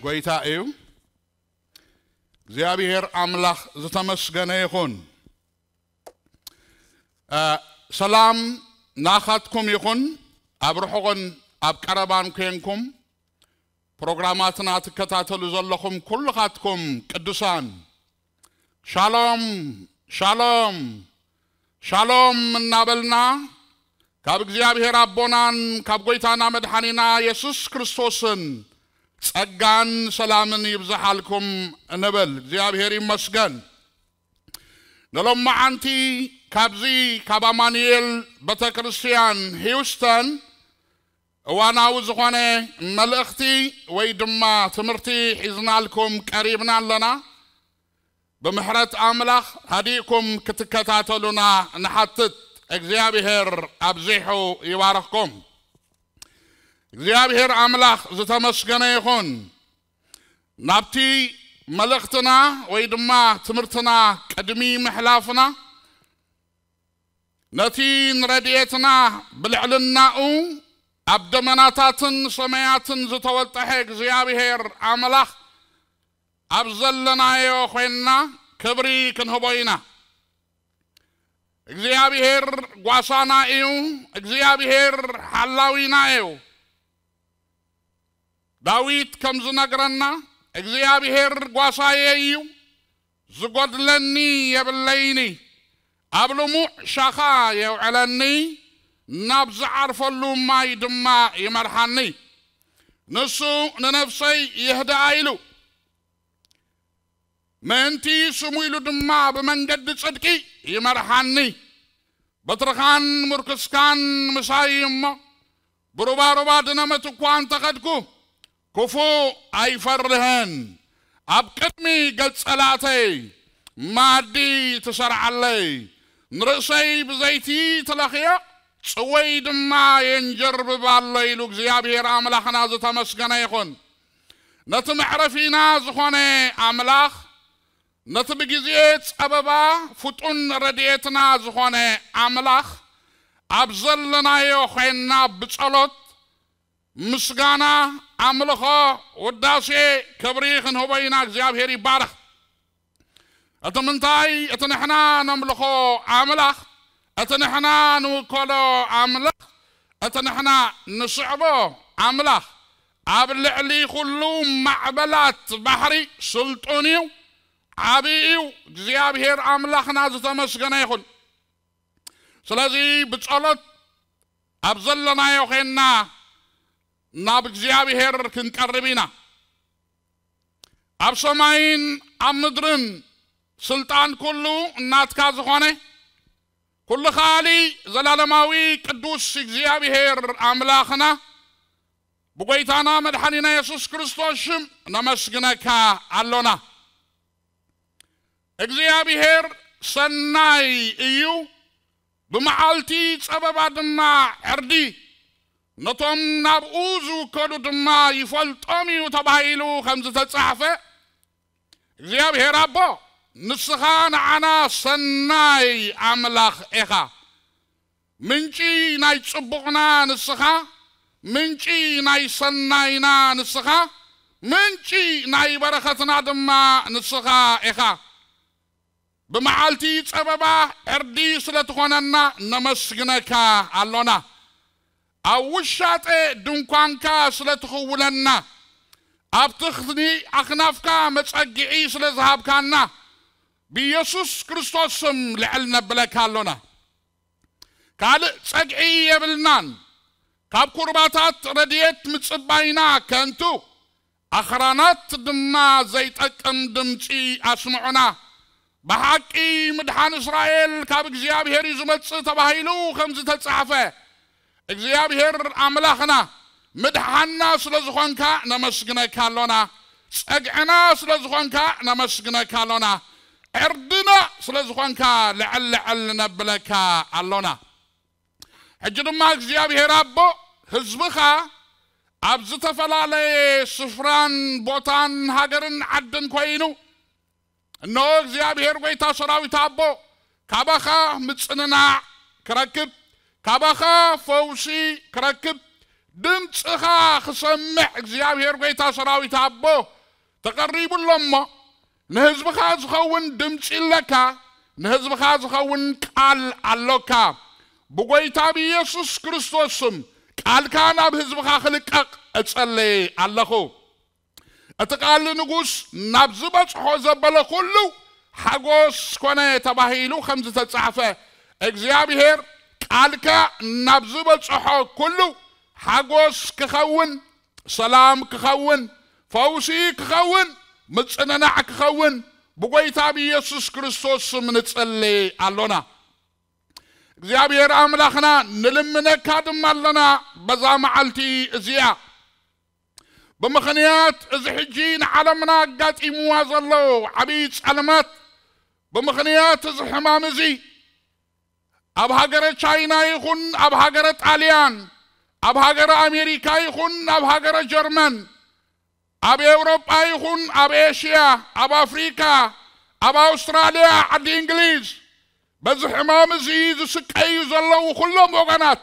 ጎይታ እዩ። እግዚኣብሔር ኣምላኽ ዝተመስገነ ይኹን። እ፣ ሰላም ናኻትኩም ይኹን። ኣብ ርሑቕን ኣብ ቀረባን ኮንኩም ፕሮግራማትና ትከታተሉ ዘለኹም ኩልኻትኩም ቅዱሳን፣ ሻሎም፣ ሻሎም፣ ሻሎም እናበልና ካብ እግዚኣብሔር ኣቦናን ካብ ጎይታና መድሓኒና የሱስ ክርስቶስን ጸጋን ሰላምን ይብዝሓልኩም እንብል። እግዚኣብሔር ይመስገን። ንሎማዓንቲ ካብዚ ካብ ኣማኑኤል ቤተ ክርስቲያን ሂውስተን እዋናዊ ዝኾነ መልእኽቲ ወይ ድማ ትምህርቲ ሒዝናልኩም ቀሪብና ኣለና። ብምሕረት ኣምላኽ ሃዲእኩም ክትከታተሉና ንሓትት። እግዚኣብሔር ኣብዚሑ ይባርኽኩም። እግዚኣብሔር ኣምላኽ ዝተመስገነ ይኹን። ናብቲ መልእኽትና ወይ ድማ ትምህርትና ቅድሚ ምሕላፍና፣ ነቲ ንረድኤትና ብልዕልናኡ ኣብ ደመናታትን ሰማያትን ዝተወጠሐ እግዚኣብሔር ኣምላኽ ኣብ ዘለናዮ ኾይንና ክብሪ ክንህቦ ኢና። እግዚኣብሔር ጓሳና እዩ። እግዚኣብሔር ሓላዊና እዩ። ዳዊት ከም ዝነግረና፣ እግዚኣብሔር ጓሳየ እዩ፣ ዝጎድለኒ የብለይኒ፣ ኣብ ልሙዕ ሻኻ የውዕለኒ፣ ናብ ዝዓርፈሉ ማይ ድማ ይመርሓኒ። ንሱ ንነፍሰይ የህድኣ ኢሉ፣ ምእንቲ ስሙ ኢሉ ድማ ብመንገዲ ጽድቂ ይመርሓኒ። በትርኻን ምርኩስካን ምሳይ እሞ፣ ብሩባሩባ ድነመት እኳ እንተኸድኩ፣ ክፉእ ኣይፈርህን። ኣብ ቅድሚ ገጽ ጸላእተይ መኣዲ ትሰርዓለይ። ንርእሰይ ብዘይቲ ትለኽዮ፣ ጽወይ ድማ የንጀርብብ ኣሎ ኢሉ እግዚኣብሔር ኣምላኽና ዝተመስገነ ይኹን። ነቲ መዕረፊና ዝኾነ ኣምላኽ፣ ነቲ ብግዜ ጸበባ ፍጡን ረድኤትና ዝኾነ ኣምላኽ፣ ኣብ ዘለናዮ ኾይንና ብጸሎት፣ ምስጋና፣ ኣምልኾ፣ ውዳሴ፣ ክብሪ ክንህቦ ኢና። እግዚኣብሔር ይባረኽ። እቲ ምንታይ፣ እቲ ንሕና ነምልኾ ኣምላኽ፣ እቲ ንሕና ንውከሎ ኣምላኽ፣ እቲ ንሕና ንስዕቦ ኣምላኽ፣ ኣብ ልዕሊ ኩሉ ማዕበላት ባሕሪ ስልጡን እዩ፣ ዓቢ እዩ። እግዚኣብሔር ኣምላኽና ዝተመስገነ ይኹን። ስለዚ ብጸሎት ኣብ ዘለናዮ ኾይንና ናብ እግዚኣብሔር ክንቀርብ ኢና። ኣብ ሰማይን ኣብ ምድርን ስልጣን ኩሉ እናትካ ዝኾነ፣ ኩሉ ከኣሊ ዘላለማዊ ቅዱስ እግዚኣብሔር ኣምላኽና፣ ብጎይታና መድሓኒና የሱስ ክርስቶስ ሽም ነመስግነካ ኣሎና። እግዚኣብሔር ሰናይ እዩ፣ ብመዓልቲ ጸበባ ድማ ዕርዲ፣ ነቶም ናብኡ ዝውከሉ ድማ ይፈልጦም እዩ ተባሂሉ ከም ዝተጻሕፈ፣ እግዚኣብሔር ኣቦ፣ ንስኻ ንዓና ሰናይ ኣምላኽ ኢኻ። ምንጪ ናይ ጽቡቕና ንስኻ፣ ምንጪ ናይ ሰናይና ንስኻ፣ ምንጪ ናይ በረኸትና ድማ ንስኻ ኢኻ። ብመዓልቲ ጸበባ ዕርዲ ስለ ትኾነና ነመስግነካ ኣሎና። ኣብ ውሻጠ ድንኳንካ ስለ ትኽውለና፣ ኣብ ትኽኒ ኣኽናፍካ መጸግዒ ስለ ዝሃብካና፣ ብኢየሱስ ክርስቶስ ስም ልዕል ነብለካ ኣሎና። ካልእ ጸግዒ የብልናን። ካብ ኩርባታት ረድኤት ምጽባይና ከንቱ፣ ኣኽራናት ድማ ዘይጠቅም ድምጺ ኣስምዑና። ብሓቂ ምድሓን እስራኤል ካብ እግዚኣብሔር እዩ ዝመጽእ ተባሂሉ ከም ዝተጻሕፈ፣ እግዚኣብሔር ኣምላኽና ምድሓንና ስለ ዝኾንካ ነመስግነካ ኣሎና። ጸግዕና ስለ ዝኾንካ ነመስግነካ ኣሎና። ዕርድና ስለ ዝኾንካ ልዕል ልዕል ነብለካ ኣሎና። ሕጂ ድማ እግዚኣብሔር ኣቦ፣ ህዝብኻ ኣብ ዝተፈላለየ ስፍራን ቦታን ሃገርን ዓድን ኮይኑ፣ እነሆ እግዚኣብሔር ጐይታ ሰራዊት ኣቦ፣ ካባኻ ምጽንናዕ ክረክብ፣ ካባኻ ፈውሲ ክረክብ፣ ድምፅኻ ክሰምዕ እግዚኣብሔር ጐይታ ሰራዊት ኣቦ ተቐሪቡ ኣሎ እሞ፣ ንህዝብኻ ዝኸውን ድምፂ ኣለካ፣ ንህዝብኻ ዝኸውን ቃል ኣሎካ። ብጐይታ ብኢየሱስ ክርስቶስ ስም ቃልካ ናብ ህዝብኻ ክልቀቕ እጸልይ ኣለኹ። እቲ ቃል ንጉስ ናብ ዝበጽሖ ዘበለ ኩሉ ሓጎስ ኮነ ተባሂሉ ከም ዝተጻሕፈ፣ እግዚኣብሔር ቃልካ ናብ ዝበጽሖ ኩሉ ሓጎስ ክኸውን፣ ሰላም ክኸውን፣ ፈውሲ ክኸውን፣ ምጽንናዕ ክኸውን ብጎይታ ብኢየሱስ ክርስቶስ ስም ንጽሊ ኣሎና። እግዚኣብሔር ኣምላኽና ንልምነካ ድማ ኣለና በዛ መዓልቲ እዚኣ። ብምኽንያት እዚ ሕጂ ንዓለምና ኣጋጢምዋ ዘሎ ዓብዪ ጸልማት፣ ብምኽንያት እዚ ሕማም እዚ ኣብ ሃገረ ቻይና ይኹን ኣብ ሃገረ ጣልያን፣ ኣብ ሃገረ ኣሜሪካ ይኹን ኣብ ሃገረ ጀርመን፣ ኣብ ኤውሮጳ ይኹን ኣብ ኤሽያ፣ ኣብ ኣፍሪካ፣ ኣብ ኣውስትራልያ፣ ዓዲ እንግሊዝ፣ በዚ ሕማም እዚ ዝስቀዩ ዘለዉ ኩሎም ወገናት፣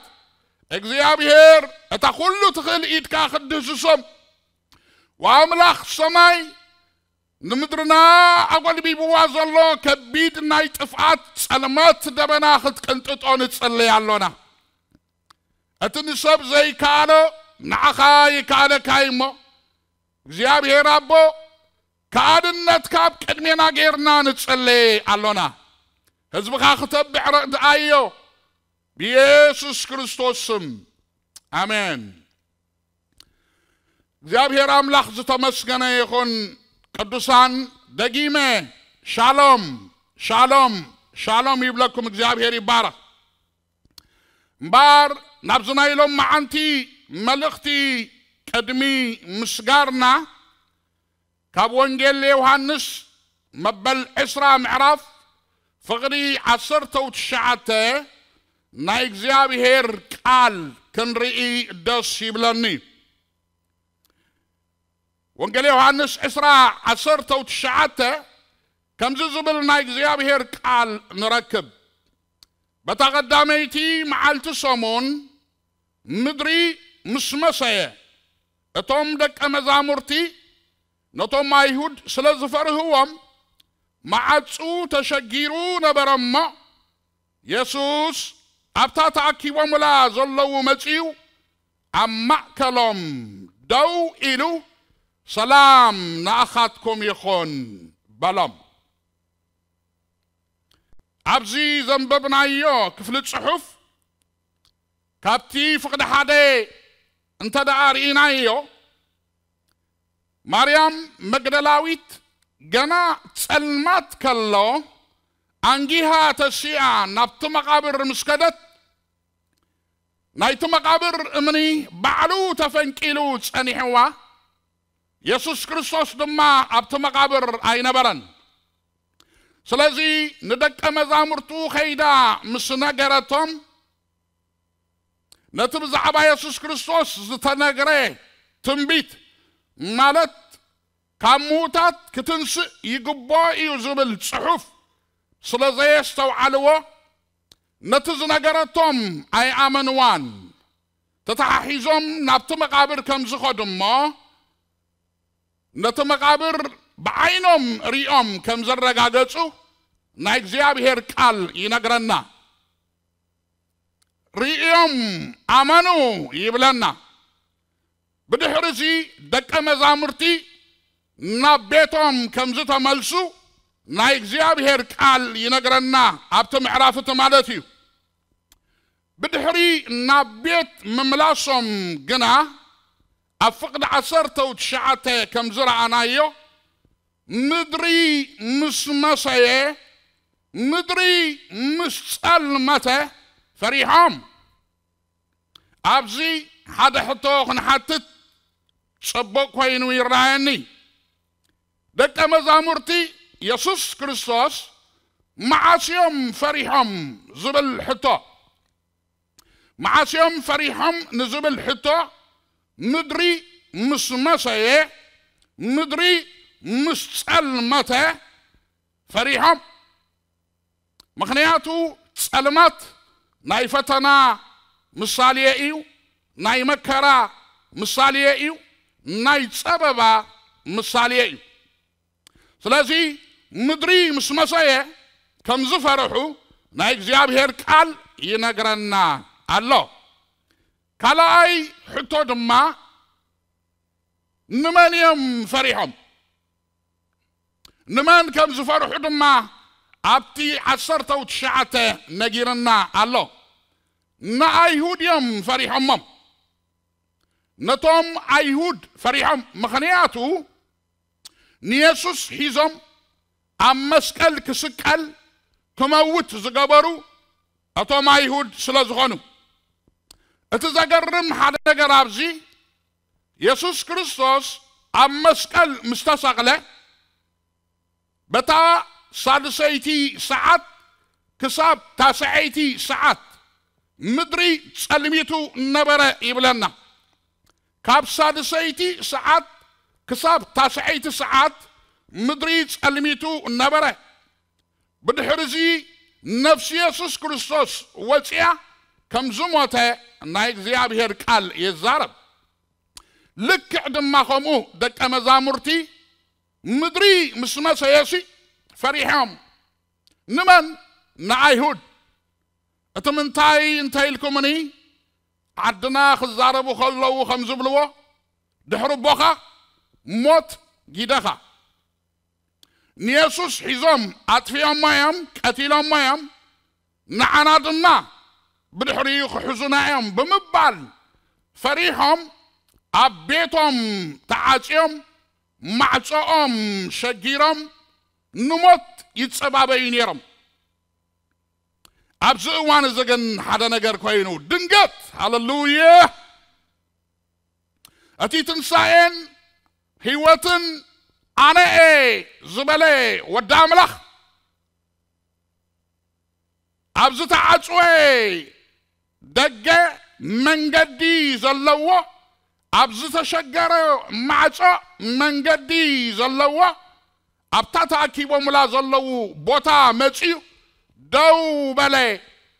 እግዚኣብሔር እታ ኩሉ ትኽእል ኢድካ ክትድህስሶም፣ ወኣምላኽ ሰማይ ንምድርና ኣጎልቢብዋ ዘሎ ከቢድ ናይ ጥፍኣት ጸልማት ደበና ክትቅንጥጦ ንጽለይ ኣሎና። እቲ ንሰብ ዘይከኣሎ ንዓኻ ይከኣለካ እዩ እሞ፣ እግዚኣብሔር ኣቦ፣ ከኣድነትካ ኣብ ቅድሜና ጌርና ንጽለይ ኣሎና። ህዝብኻ ክተብዕ ረድኣዮ፣ ብኢየሱስ ክርስቶስ ስም፣ ኣሜን። እግዚኣብሔር ኣምላኽ ዝተመስገነ ይኹን። ቅዱሳን፣ ደጊመ ሻሎም፣ ሻሎም፣ ሻሎም ይብለኩም። እግዚኣብሔር ይባረኽ። እምበኣር ናብዚ ናይ ሎም መዓንቲ መልእኽቲ ቅድሚ ምስጋርና፣ ካብ ወንጌል ዮሃንስ መበል ዕስራ ምዕራፍ ፍቕዲ ዓሰርተው ትሽዓተ ናይ እግዚኣብሔር ቃል ክንርኢ ደስ ይብለኒ። ወንጌል ዮሃንስ ዕስራ ዓሰርተው ትሽዓተ ከምዚ ዝብል ናይ እግዚኣብሔር ቃል ንረክብ። በታ ቀዳመይቲ መዓልቲ ሰሙን ምድሪ ምስ መሰየ፣ እቶም ደቀ መዛሙርቲ ነቶም ኣይሁድ ስለ ዝፈርህዎም፣ መዓጹ ተሸጊሩ ነበረ እሞ፣ የሱስ ኣብታ ተኣኪቦምላ ዘለዉ መጺኡ፣ ኣብ ማእከሎም ደው ኢሉ፣ "ሰላም ንኣኻትኩም ይኹን" በሎም። ኣብዚ ዘንበብናዮ ክፍሊ ጽሑፍ፣ ካብቲ ፍቕዲ ሓደ እንተ ደኣ ርኢናዮ፣ ማርያም መግደላዊት ገና ጸልማት ከሎ፣ ኣንጊሃ ተሲኣ ናብቲ መቓብር ምስ ከደት፣ ናይቲ መቓብር እምኒ ባዕሉ ተፈንቂሉ ጸኒሕዋ፣ የሱስ ክርስቶስ ድማ ኣብቲ መቓብር ኣይነበረን። ስለዚ ንደቀ መዛሙርቱ ከይዳ ምስ ነገረቶም፣ ነቲ ብዛዕባ የሱስ ክርስቶስ ዝተነግረ ትንቢት፣ ማለት ካብ ምዉታት ክትንስእ ይግብኦ እዩ ዝብል ጽሑፍ ስለ ዘየስተውዓልዎ፣ ነቲ ዝነገረቶም ኣይኣመንዋን። ተተሓሒዞም ናብቲ መቓብር ከም ዝኸዱ እሞ፣ ነቲ መቓብር ብዓይኖም ሪኦም ከም ዘረጋገጹ ናይ እግዚኣብሔር ቃል ይነግረና። ርእዮም ኣመኑ ይብለና። ብድሕሪ እዚ ደቀ መዛሙርቲ ናብ ቤቶም ከም ዝተመልሱ ናይ እግዚኣብሔር ቃል ይነግረና፣ ኣብቲ ምዕራፍ እቲ ማለት እዩ። ብድሕሪ ናብ ቤት ምምላሶም ግና፣ ኣብ ፍቕዲ ዓሰርተው ትሽዓተ ከም ዝረኣናዮ፣ ምድሪ ምስ መሰየ፣ ምድሪ ምስ ጸልመተ ፈሪሖም። ኣብዚ ሓደ ሕቶ ክንሓትት ጽቡቕ ኮይኑ ይረኣየኒ። ደቀ መዛሙርቲ የሱስ ክርስቶስ መዓስ እዮም ፈሪሖም ዝብል ሕቶ፣ መዓስ እዮም ፈሪሖም ንዝብል ሕቶ፣ ምድሪ ምስ መሰየ፣ ምድሪ ምስ ጸልመተ ፈሪሖም። ምኽንያቱ ጸልማት ናይ ፈተና ምሳሌ እዩ፣ ናይ መከራ ምሳሌ እዩ፣ ናይ ጸበባ ምሳሌ እዩ። ስለዚ ምድሪ ምስ መሰየ ከም ዝፈርሑ ናይ እግዚኣብሔር ቃል ይነግረና ኣሎ። ካልኣይ ሕቶ ድማ ንመን እዮም ፈሪሖም? ንመን ከም ዝፈርሑ ድማ ኣብቲ ዓሰርተው ትሽዓተ ነጊርና ኣሎ። ንኣይሁድ እዮም ፈሪሖሞም። ነቶም ኣይሁድ ፈሪሖም፣ ምኽንያቱ ንየሱስ ሒዞም ኣብ መስቀል ክስቀል ክመውት ዝገበሩ እቶም ኣይሁድ ስለ ዝኾኑ። እቲ ዘገርም ሓደ ነገር ኣብዚ የሱስ ክርስቶስ ኣብ መስቀል ምስ ተሰቕለ በታ ሳድሰይቲ ሰዓት ክሳብ ታስዐይቲ ሰዓት ምድሪ ጸልሚቱ ነበረ ይብለና። ካብ ሳድሰይቲ ሰዓት ክሳብ ታስዐይቲ ሰዓት ምድሪ ጸልሚቱ ነበረ። ብድሕርዚ ነፍሲ የሱስ ክርስቶስ ወፂኣ ከም ዝሞተ ናይ እግዚኣብሔር ቃል ይዛረብ። ልክዕ ድማ ከምኡ ደቀ መዛሙርቲ ምድሪ ምስ መሰየሲ ፈሪሖም። ንመን? ንኣይሁድ። እቲ ምንታይ እንተ ኢልኩምኒ፣ ዓድና ክዛረቡ ከለዉ ከም ዝብልዎ፣ ድሕሪ ቦኻ ሞት ጊደኻ። ንየሱስ ሒዞም ኣጥፊኦሞ እዮም፣ ቀቲሎሞ እዮም፣ ንዓና ድማ ብድሕሪኡ ክሕዙና እዮም ብምባል ፈሪሖም ኣብ ቤቶም ተዓጽዮም ማዕጾኦም ሸጊሮም ንሞት ይጸባበዩ ነይሮም። ኣብዚ እዋን እዚ ግን ሓደ ነገር ኮይኑ ድንገት፣ ሃለሉያ፣ እቲ ትንሳኤን ህይወትን ኣነ እየ ዝበለ ወዲ ኣምላኽ ኣብ ዝተዓጽወ ደገ መንገዲ ዘለዎ፣ ኣብ ዝተሸገረ ማዕጾ መንገዲ ዘለዎ፣ ኣብታ ተኣኪቦምላ ዘለዉ ቦታ መጺኡ ደው በለ።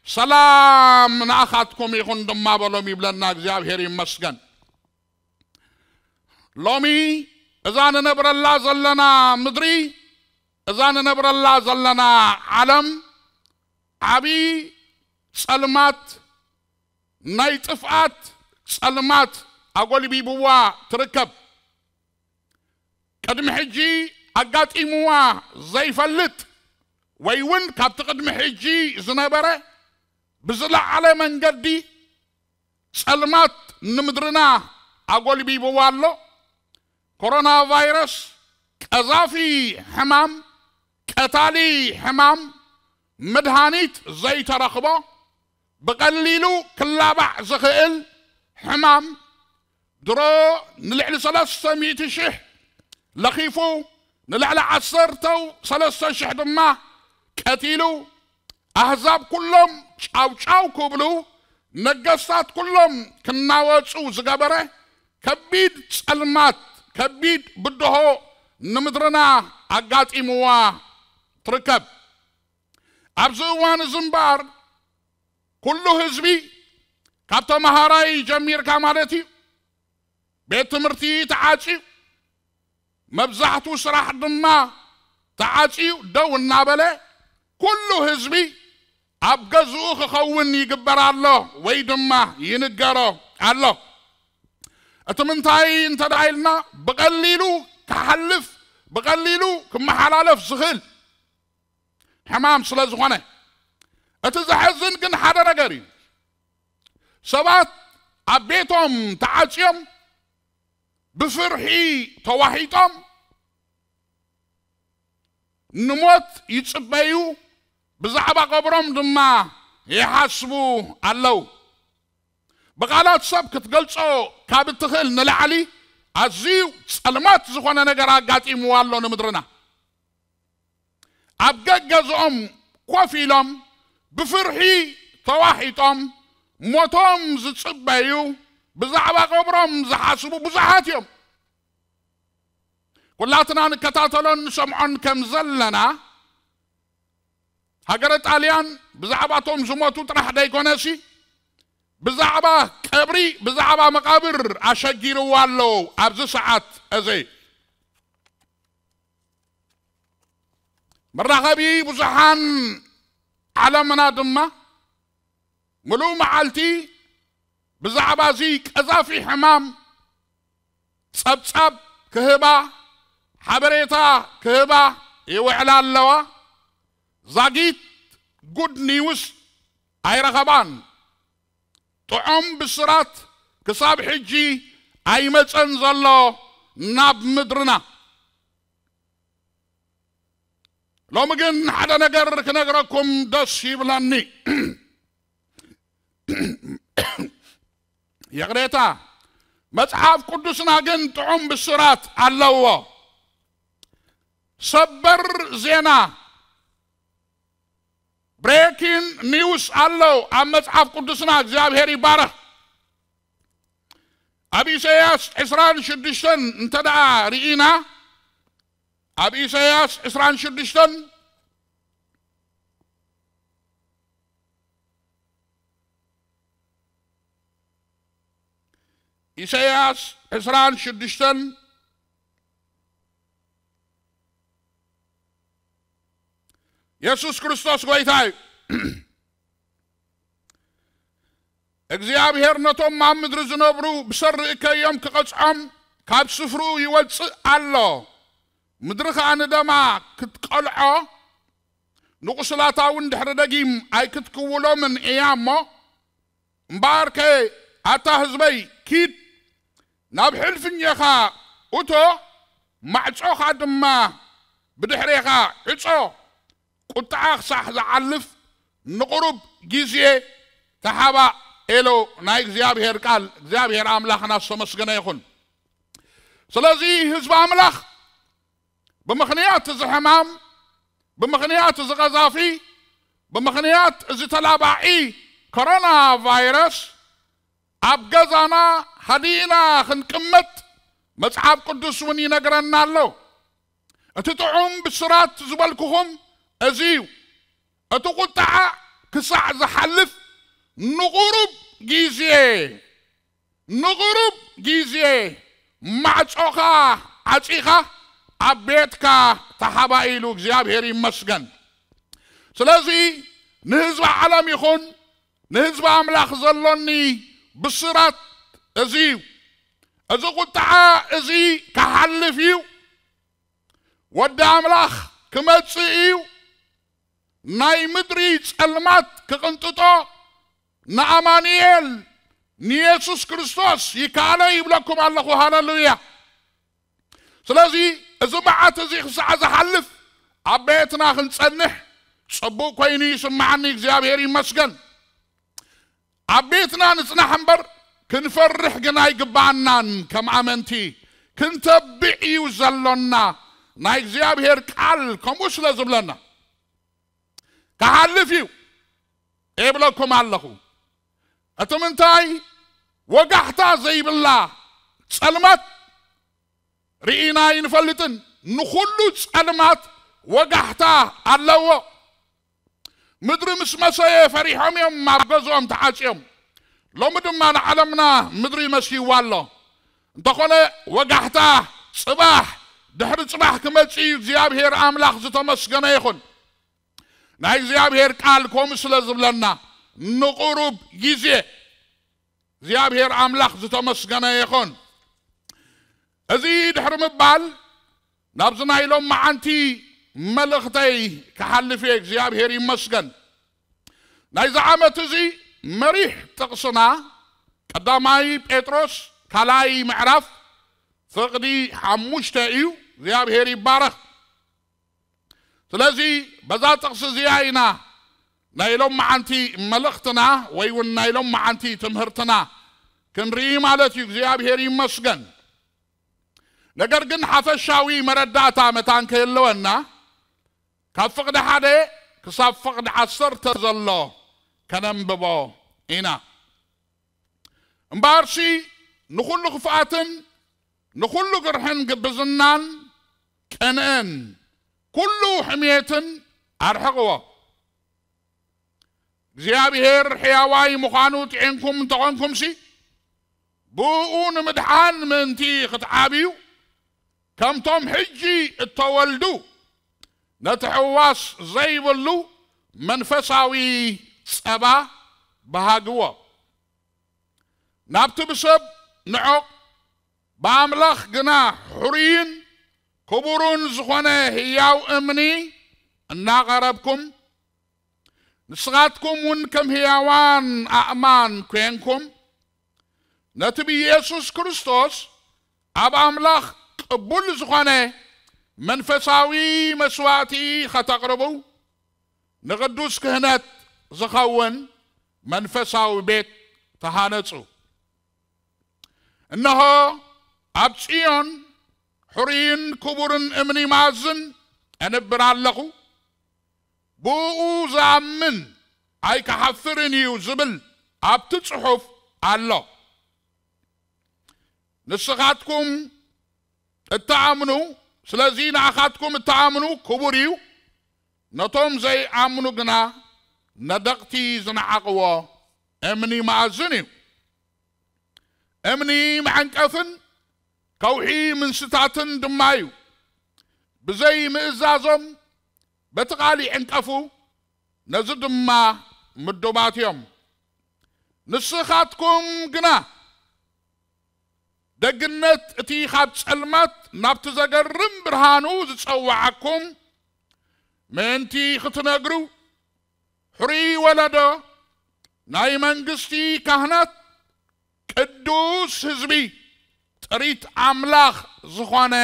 ሰላም ንኣኻትኩም ይኹን ድማ በሎም ይብለና። እግዚኣብሔር ይመስገን። ሎሚ እዛ ንነብረላ ዘለና ምድሪ፣ እዛ ንነብረላ ዘለና ዓለም ዓቢ ጸልማት፣ ናይ ጥፍኣት ጸልማት ኣጎልቢብዋ ትርከብ። ቅድሚ ሕጂ ኣጋጢምዋ ዘይፈልጥ ወይ እውን ካብቲ ቅድሚ ሕጂ ዝነበረ ብዝለዓለ መንገዲ ጸልማት ንምድርና ኣጎልቢብዋ ኣሎ። ኮሮና ቫይረስ ቀዛፊ ሕማም፣ ቀታሊ ሕማም፣ መድሃኒት ዘይተረኽቦ፣ ብቐሊሉ ክላባዕ ዝኽእል ሕማም፣ ድሮ ንልዕሊ ሰለስተ ሚእቲ ሽሕ ለኺፉ፣ ንልዕሊ ዓሰርተው ሰለስተ ሽሕ ድማ ቀቲሉ፣ ኣህዛብ ኩሎም ጫውጫው ክብሉ፣ ነገስታት ኩሎም ክናወጹ ዝገበረ ከቢድ ጸልማት፣ ከቢድ ብድሆ ንምድርና ኣጋጢምዋ ትርከብ። ኣብዚ እዋን እዚ እምበኣር ኩሉ ህዝቢ፣ ካብ ተመሃራይ ጀሚርካ ማለት እዩ፣ ቤት ትምህርቲ ተዓጽዩ፣ መብዛሕቱ ስራሕ ድማ ተዓጽዩ ደው እናበለ፣ ኩሉ ህዝቢ ኣብ ገዝኡ ክኸውን ይግበር ኣሎ ወይ ድማ ይንገሮ ኣሎ። እቲ ምንታይ እንተ ደኣ ኢልና፣ ብቐሊሉ ክሓልፍ፣ ብቐሊሉ ክመሓላለፍ ዝኽእል ሕማም ስለ ዝኾነ። እቲ ዘሕዝን ግን ሓደ ነገር እዩ። ሰባት ኣብ ቤቶም ተዓጽዮም ብፍርሒ ተዋሒጦም ንሞት ይጽበዩ፣ ብዛዕባ ቀብሮም ድማ ይሓስቡ ኣለዉ። ብቓላት ሰብ ክትገልጾ ካብ እትኽእል ንላዕሊ ኣዝዩ ጸልማት ዝኾነ ነገር ኣጋጢምዋ ኣሎ ንምድርና። ኣብ ገገዝኦም ኮፍ ኢሎም ብፍርሒ ተዋሒጦም ሞቶም ዝጽበዩ፣ ብዛዕባ ቀብሮም ዝሓስቡ ብዙሓት እዮም። ኩላትና ንከታተሎን ንሰምዖን ከም ዘለና፣ ሃገረ ጣልያን ብዛዕባቶም ዝሞቱ ጥራሕ ደይኮነሲ፣ ብዛዕባ ቀብሪ፣ ብዛዕባ መቓብር ኣሸጊርዋ ኣሎ ኣብዚ ሰዓት እዚ። መራኸቢ ብዙሓን ዓለምና ድማ ምሉእ መዓልቲ ብዛዕባ እዚ ቀዛፊ ሕማም ጸብጻብ ክህባ፣ ሓበሬታ ክህባ ይውዕላ ኣለዋ። ዛጊት ጉድ ኒውስ ኣይረኸባን። ጥዑም ብስራት ክሳብ ሕጂ ኣይመጸን ዘሎ ናብ ምድርና። ሎሚ ግን ሓደ ነገር ክነግረኩም ደስ ይብለኒ። ይቕሬታ፣ መጽሓፍ ቅዱስና ግን ጥዑም ብስራት ኣለዎ። ሰበር ዜና፣ ብሬኪን ኒውስ ኣሎ ኣብ መጽሓፍ ቅዱስና። እግዚኣብሔር ይባረኽ። ኣብ ኢሳያስ ዕስራን ሽዱሽተን እንተ ደኣ ርኢና፣ ኣብ ኢሳያስ ዕስራን ሽዱሽተን፣ ኢሳያስ ዕስራን ሽዱሽተን፣ የሱስ ክርስቶስ ጐይታ እዩ። እግዚኣብሔር ነቶም ኣብ ምድሪ ዝነብሩ ብሰሪ እከዮም ክቐጽዖም ካብ ስፍርኡ ይወጽእ ኣሎ። ምድሪ ኸኣ ንደማ ክትቀልዖ፣ ንቑስላታ እውን ድሕሪ ደጊም ኣይክትክውሎምን እያ እሞ፣ እምበኣርከ ኣታ ህዝበይ፣ ኪድ፣ ናብ ሕልፍኛኻ እቶ፣ ማዕጾኻ ድማ ብድሕሬኻ ዕጾ፣ ቁጥዓ ክሳዕ ዝዓልፍ ንቑሩብ ግዜ ተሓባእ ኢሉ ናይ እግዚኣብሔር ቃል። እግዚኣብሔር ኣምላኽና ዝተመስገነ ይኹን። ስለዚ ህዝቢ ኣምላኽ ብምኽንያት እዚ ሕማም፣ ብምኽንያት እዚ ቀዛፊ፣ ብምኽንያት እዚ ተላባዒ ኮሮና ቫይረስ ኣብ ገዛና ሃዲእና ክንቅመጥ መጽሓፍ ቅዱስ እውን ይነግረና ኣሎ። እቲ ጥዑም ብስራት ዝበልኩኹም እዚ እዩ። እቲ ቁጥዓ ክሳዕ ዝሓልፍ ንቑሩብ ግዜ፣ ንቑሩብ ግዜ ማዕጾኻ ዓጺኻ ኣብ ቤትካ ተሓባእ ኢሉ። እግዚኣብሔር ይመስገን። ስለዚ ንህዝቢ ዓለም ይኹን ንህዝቢ ኣምላኽ ዘሎኒ ብስራት እዚ እዩ። እዚ ቁጥዓ እዚ ክሓልፍ እዩ። ወዲ ኣምላኽ ክመጽእ እዩ። ናይ ምድሪ ጸልማት ክቕንጥጦ ንኣማኑኤል ንየሱስ ክርስቶስ ይከኣሎ ይብለኩም ኣለኹ። ሃለሉያ። ስለዚ እዚ መዓት እዚ ክሳዕ ዝሓልፍ ኣብ ቤትና ክንጸንሕ ጽቡቕ ኮይኑ ይስምዓኒ። እግዚኣብሔር ይመስገን። ኣብ ቤትና ንጽናሕ እምበር ክንፈርሕ ግን ኣይግባኣናን። ከም ኣመንቲ ክንተብዕ እዩ ዘሎና። ናይ እግዚኣብሔር ቃል ከምኡ ስለ ዝብለና። ክሓልፍ እዩ እብለኩም ኣለኹ። እቲ ምንታይ? ወጋሕታ ዘይብላ ጸልማት ርኢና ኣይንፈልጥን። ንኹሉ ጸልማት ወጋሕታ ኣለዎ። ምድሪ ምስ መሰየ ፈሪሖም እዮም ኣብ ገዝኦም ተዓጽዮም። ሎሚ ድማ ንዓለምና ምድሪ መስይዋ ኣሎ። እንተኾነ ወጋሕታ ጽባሕ ድሕሪ ጽባሕ ክመጽእ እዩ። እግዚኣብሔር ኣምላኽ ዝተመስገነ ይኹን። ናይ እግዚኣብሔር ቃል ከምኡ ስለ ዝብለና ንቑሩብ ግዜ እግዚኣብሔር ኣምላኽ ዝተመስገነ ይኹን። እዚ ድሕሪ ምባል ናብዚ ናይ ሎም መዓንቲ መልእኽተይ ክሓልፍ እየ። እግዚኣብሔር ይመስገን። ናይዚ ዓመት እዚ መሪሕ ጥቕስና ቀዳማይ ጴጥሮስ ካልኣይ ምዕራፍ ፍቕዲ ሓሙሽተ እዩ። እግዚኣብሔር ይባረኽ። ስለዚ በዛ ጥቕሲ እዚኣ ኢና ናይ ሎም መዓንቲ መልእኽትና ወይ እውን ናይ ሎም መዓንቲ ትምህርትና ክንርኢ ማለት እዩ። እግዚኣብሔር ይመስገን። ነገር ግን ሓፈሻዊ መረዳእታ መታን ከየለወና ካብ ፍቕዲ ሓደ ክሳብ ፍቕዲ ዓሰርተ ዘሎ ከነንብቦ ኢና። እምበኣርሲ ንኹሉ ክፍኣትን ንኹሉ ግርሕን ግብዝናን ቅንእን ኩሉ ሕሜትን ኣርሕቕዎ። እግዚኣብሔር ሕያዋይ ምዃኑ ጥዒንኩም እንተኾንኩምሲ፣ ብእኡ ንምድሓን ምእንቲ ክትዓብዩ፣ ከምቶም ሕጂ እተወልዱ፣ ነቲ ሕዋስ ዘይብሉ መንፈሳዊ ጸባ በሃግዎ። ናብቲ ብሰብ ንዑቕ፣ ብኣምላኽ ግና ሕሩይን ክቡርን ዝኾነ ህያው እምኒ እናቐረብኩም፣ ንስኻትኩም እውን ከም ህያዋን ኣእማን ኴንኩም፣ ነቲ ብኢየሱስ ክርስቶስ ኣብ ኣምላኽ ቅቡል ዝኾነ መንፈሳዊ መስዋእቲ ኸተቕርቡ፣ ንቕዱስ ክህነት ዝኸውን መንፈሳዊ ቤት ተሃነጹ። እነሆ፣ ኣብ ጽዮን ሕሩይን ክቡርን እምኒ መኣዝን እንብር ኣለኹ፣ ብእኡ ዝኣምን ኣይክሓፍርን እዩ ዝብል ኣብቲ ጽሑፍ ኣሎ። ንስኻትኩም እትኣምኑ፣ ስለዚ ንኣኻትኩም እትኣምኑ ክቡር እዩ፣ ነቶም ዘይኣምኑ ግና ነደቕቲ ዝነዓቕዎ እምኒ መኣዝን እዩ። እምኒ መዐንቀፍን ከውሒ ምንስታትን ድማ እዩ። ብዘይ ምእዛዞም በቲ ቃል ይዕንቀፉ፣ ነዚ ድማ ምዱባት እዮም። ንስኻትኩም ግና ደግነት እቲ ካብ ጸልማት ናብቲ ዘገርም ብርሃኑ ዝጸዋዓኩም ምእንቲ ክትነግሩ፣ ሕሩይ ወለዶ፣ ናይ መንግስቲ ካህናት፣ ቅዱስ ህዝቢ፣ ጥሪት ኣምላኽ ዝኾነ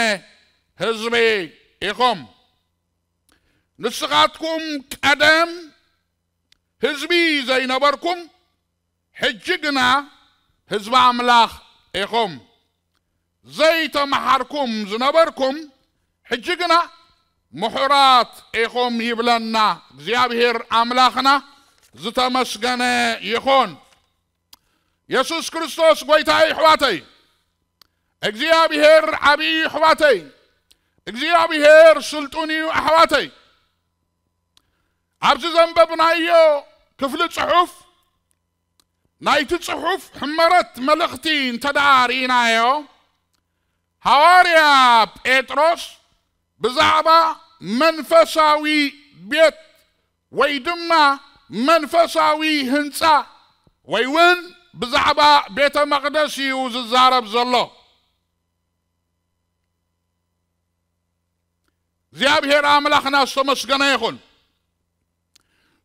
ህዝቢ ኢኹም። ንስኻትኩም ቀደም ህዝቢ ዘይነበርኩም፣ ሕጂ ግና ህዝቢ ኣምላኽ ኢኹም። ዘይተመሃርኩም ዝነበርኩም፣ ሕጂ ግና ምሑራት ኢኹም ይብለና እግዚኣብሔር ኣምላኽና። ዝተመስገነ ይኹን። የሱስ ክርስቶስ ጐይታይ ኣሕዋተይ፣ እግዚኣብሔር ዓብዪ ኣሕዋተይ፣ እግዚኣብሔር ስልጡን እዩ ኣሕዋተይ። ኣብዚ ዘንበብናዮ ክፍሊ ጽሑፍ፣ ናይቲ ጽሑፍ ሕመረት መልእኽቲ እንተ ደኣ ርኢናዮ፣ ሃዋርያ ጴጥሮስ ብዛዕባ መንፈሳዊ ቤት ወይ ድማ መንፈሳዊ ህንጻ ወይ እውን ብዛዕባ ቤተ መቕደስ እዩ ዝዛረብ ዘሎ። እግዚኣብሔር ኣምላኽና ዝተመስገነ ይኹን።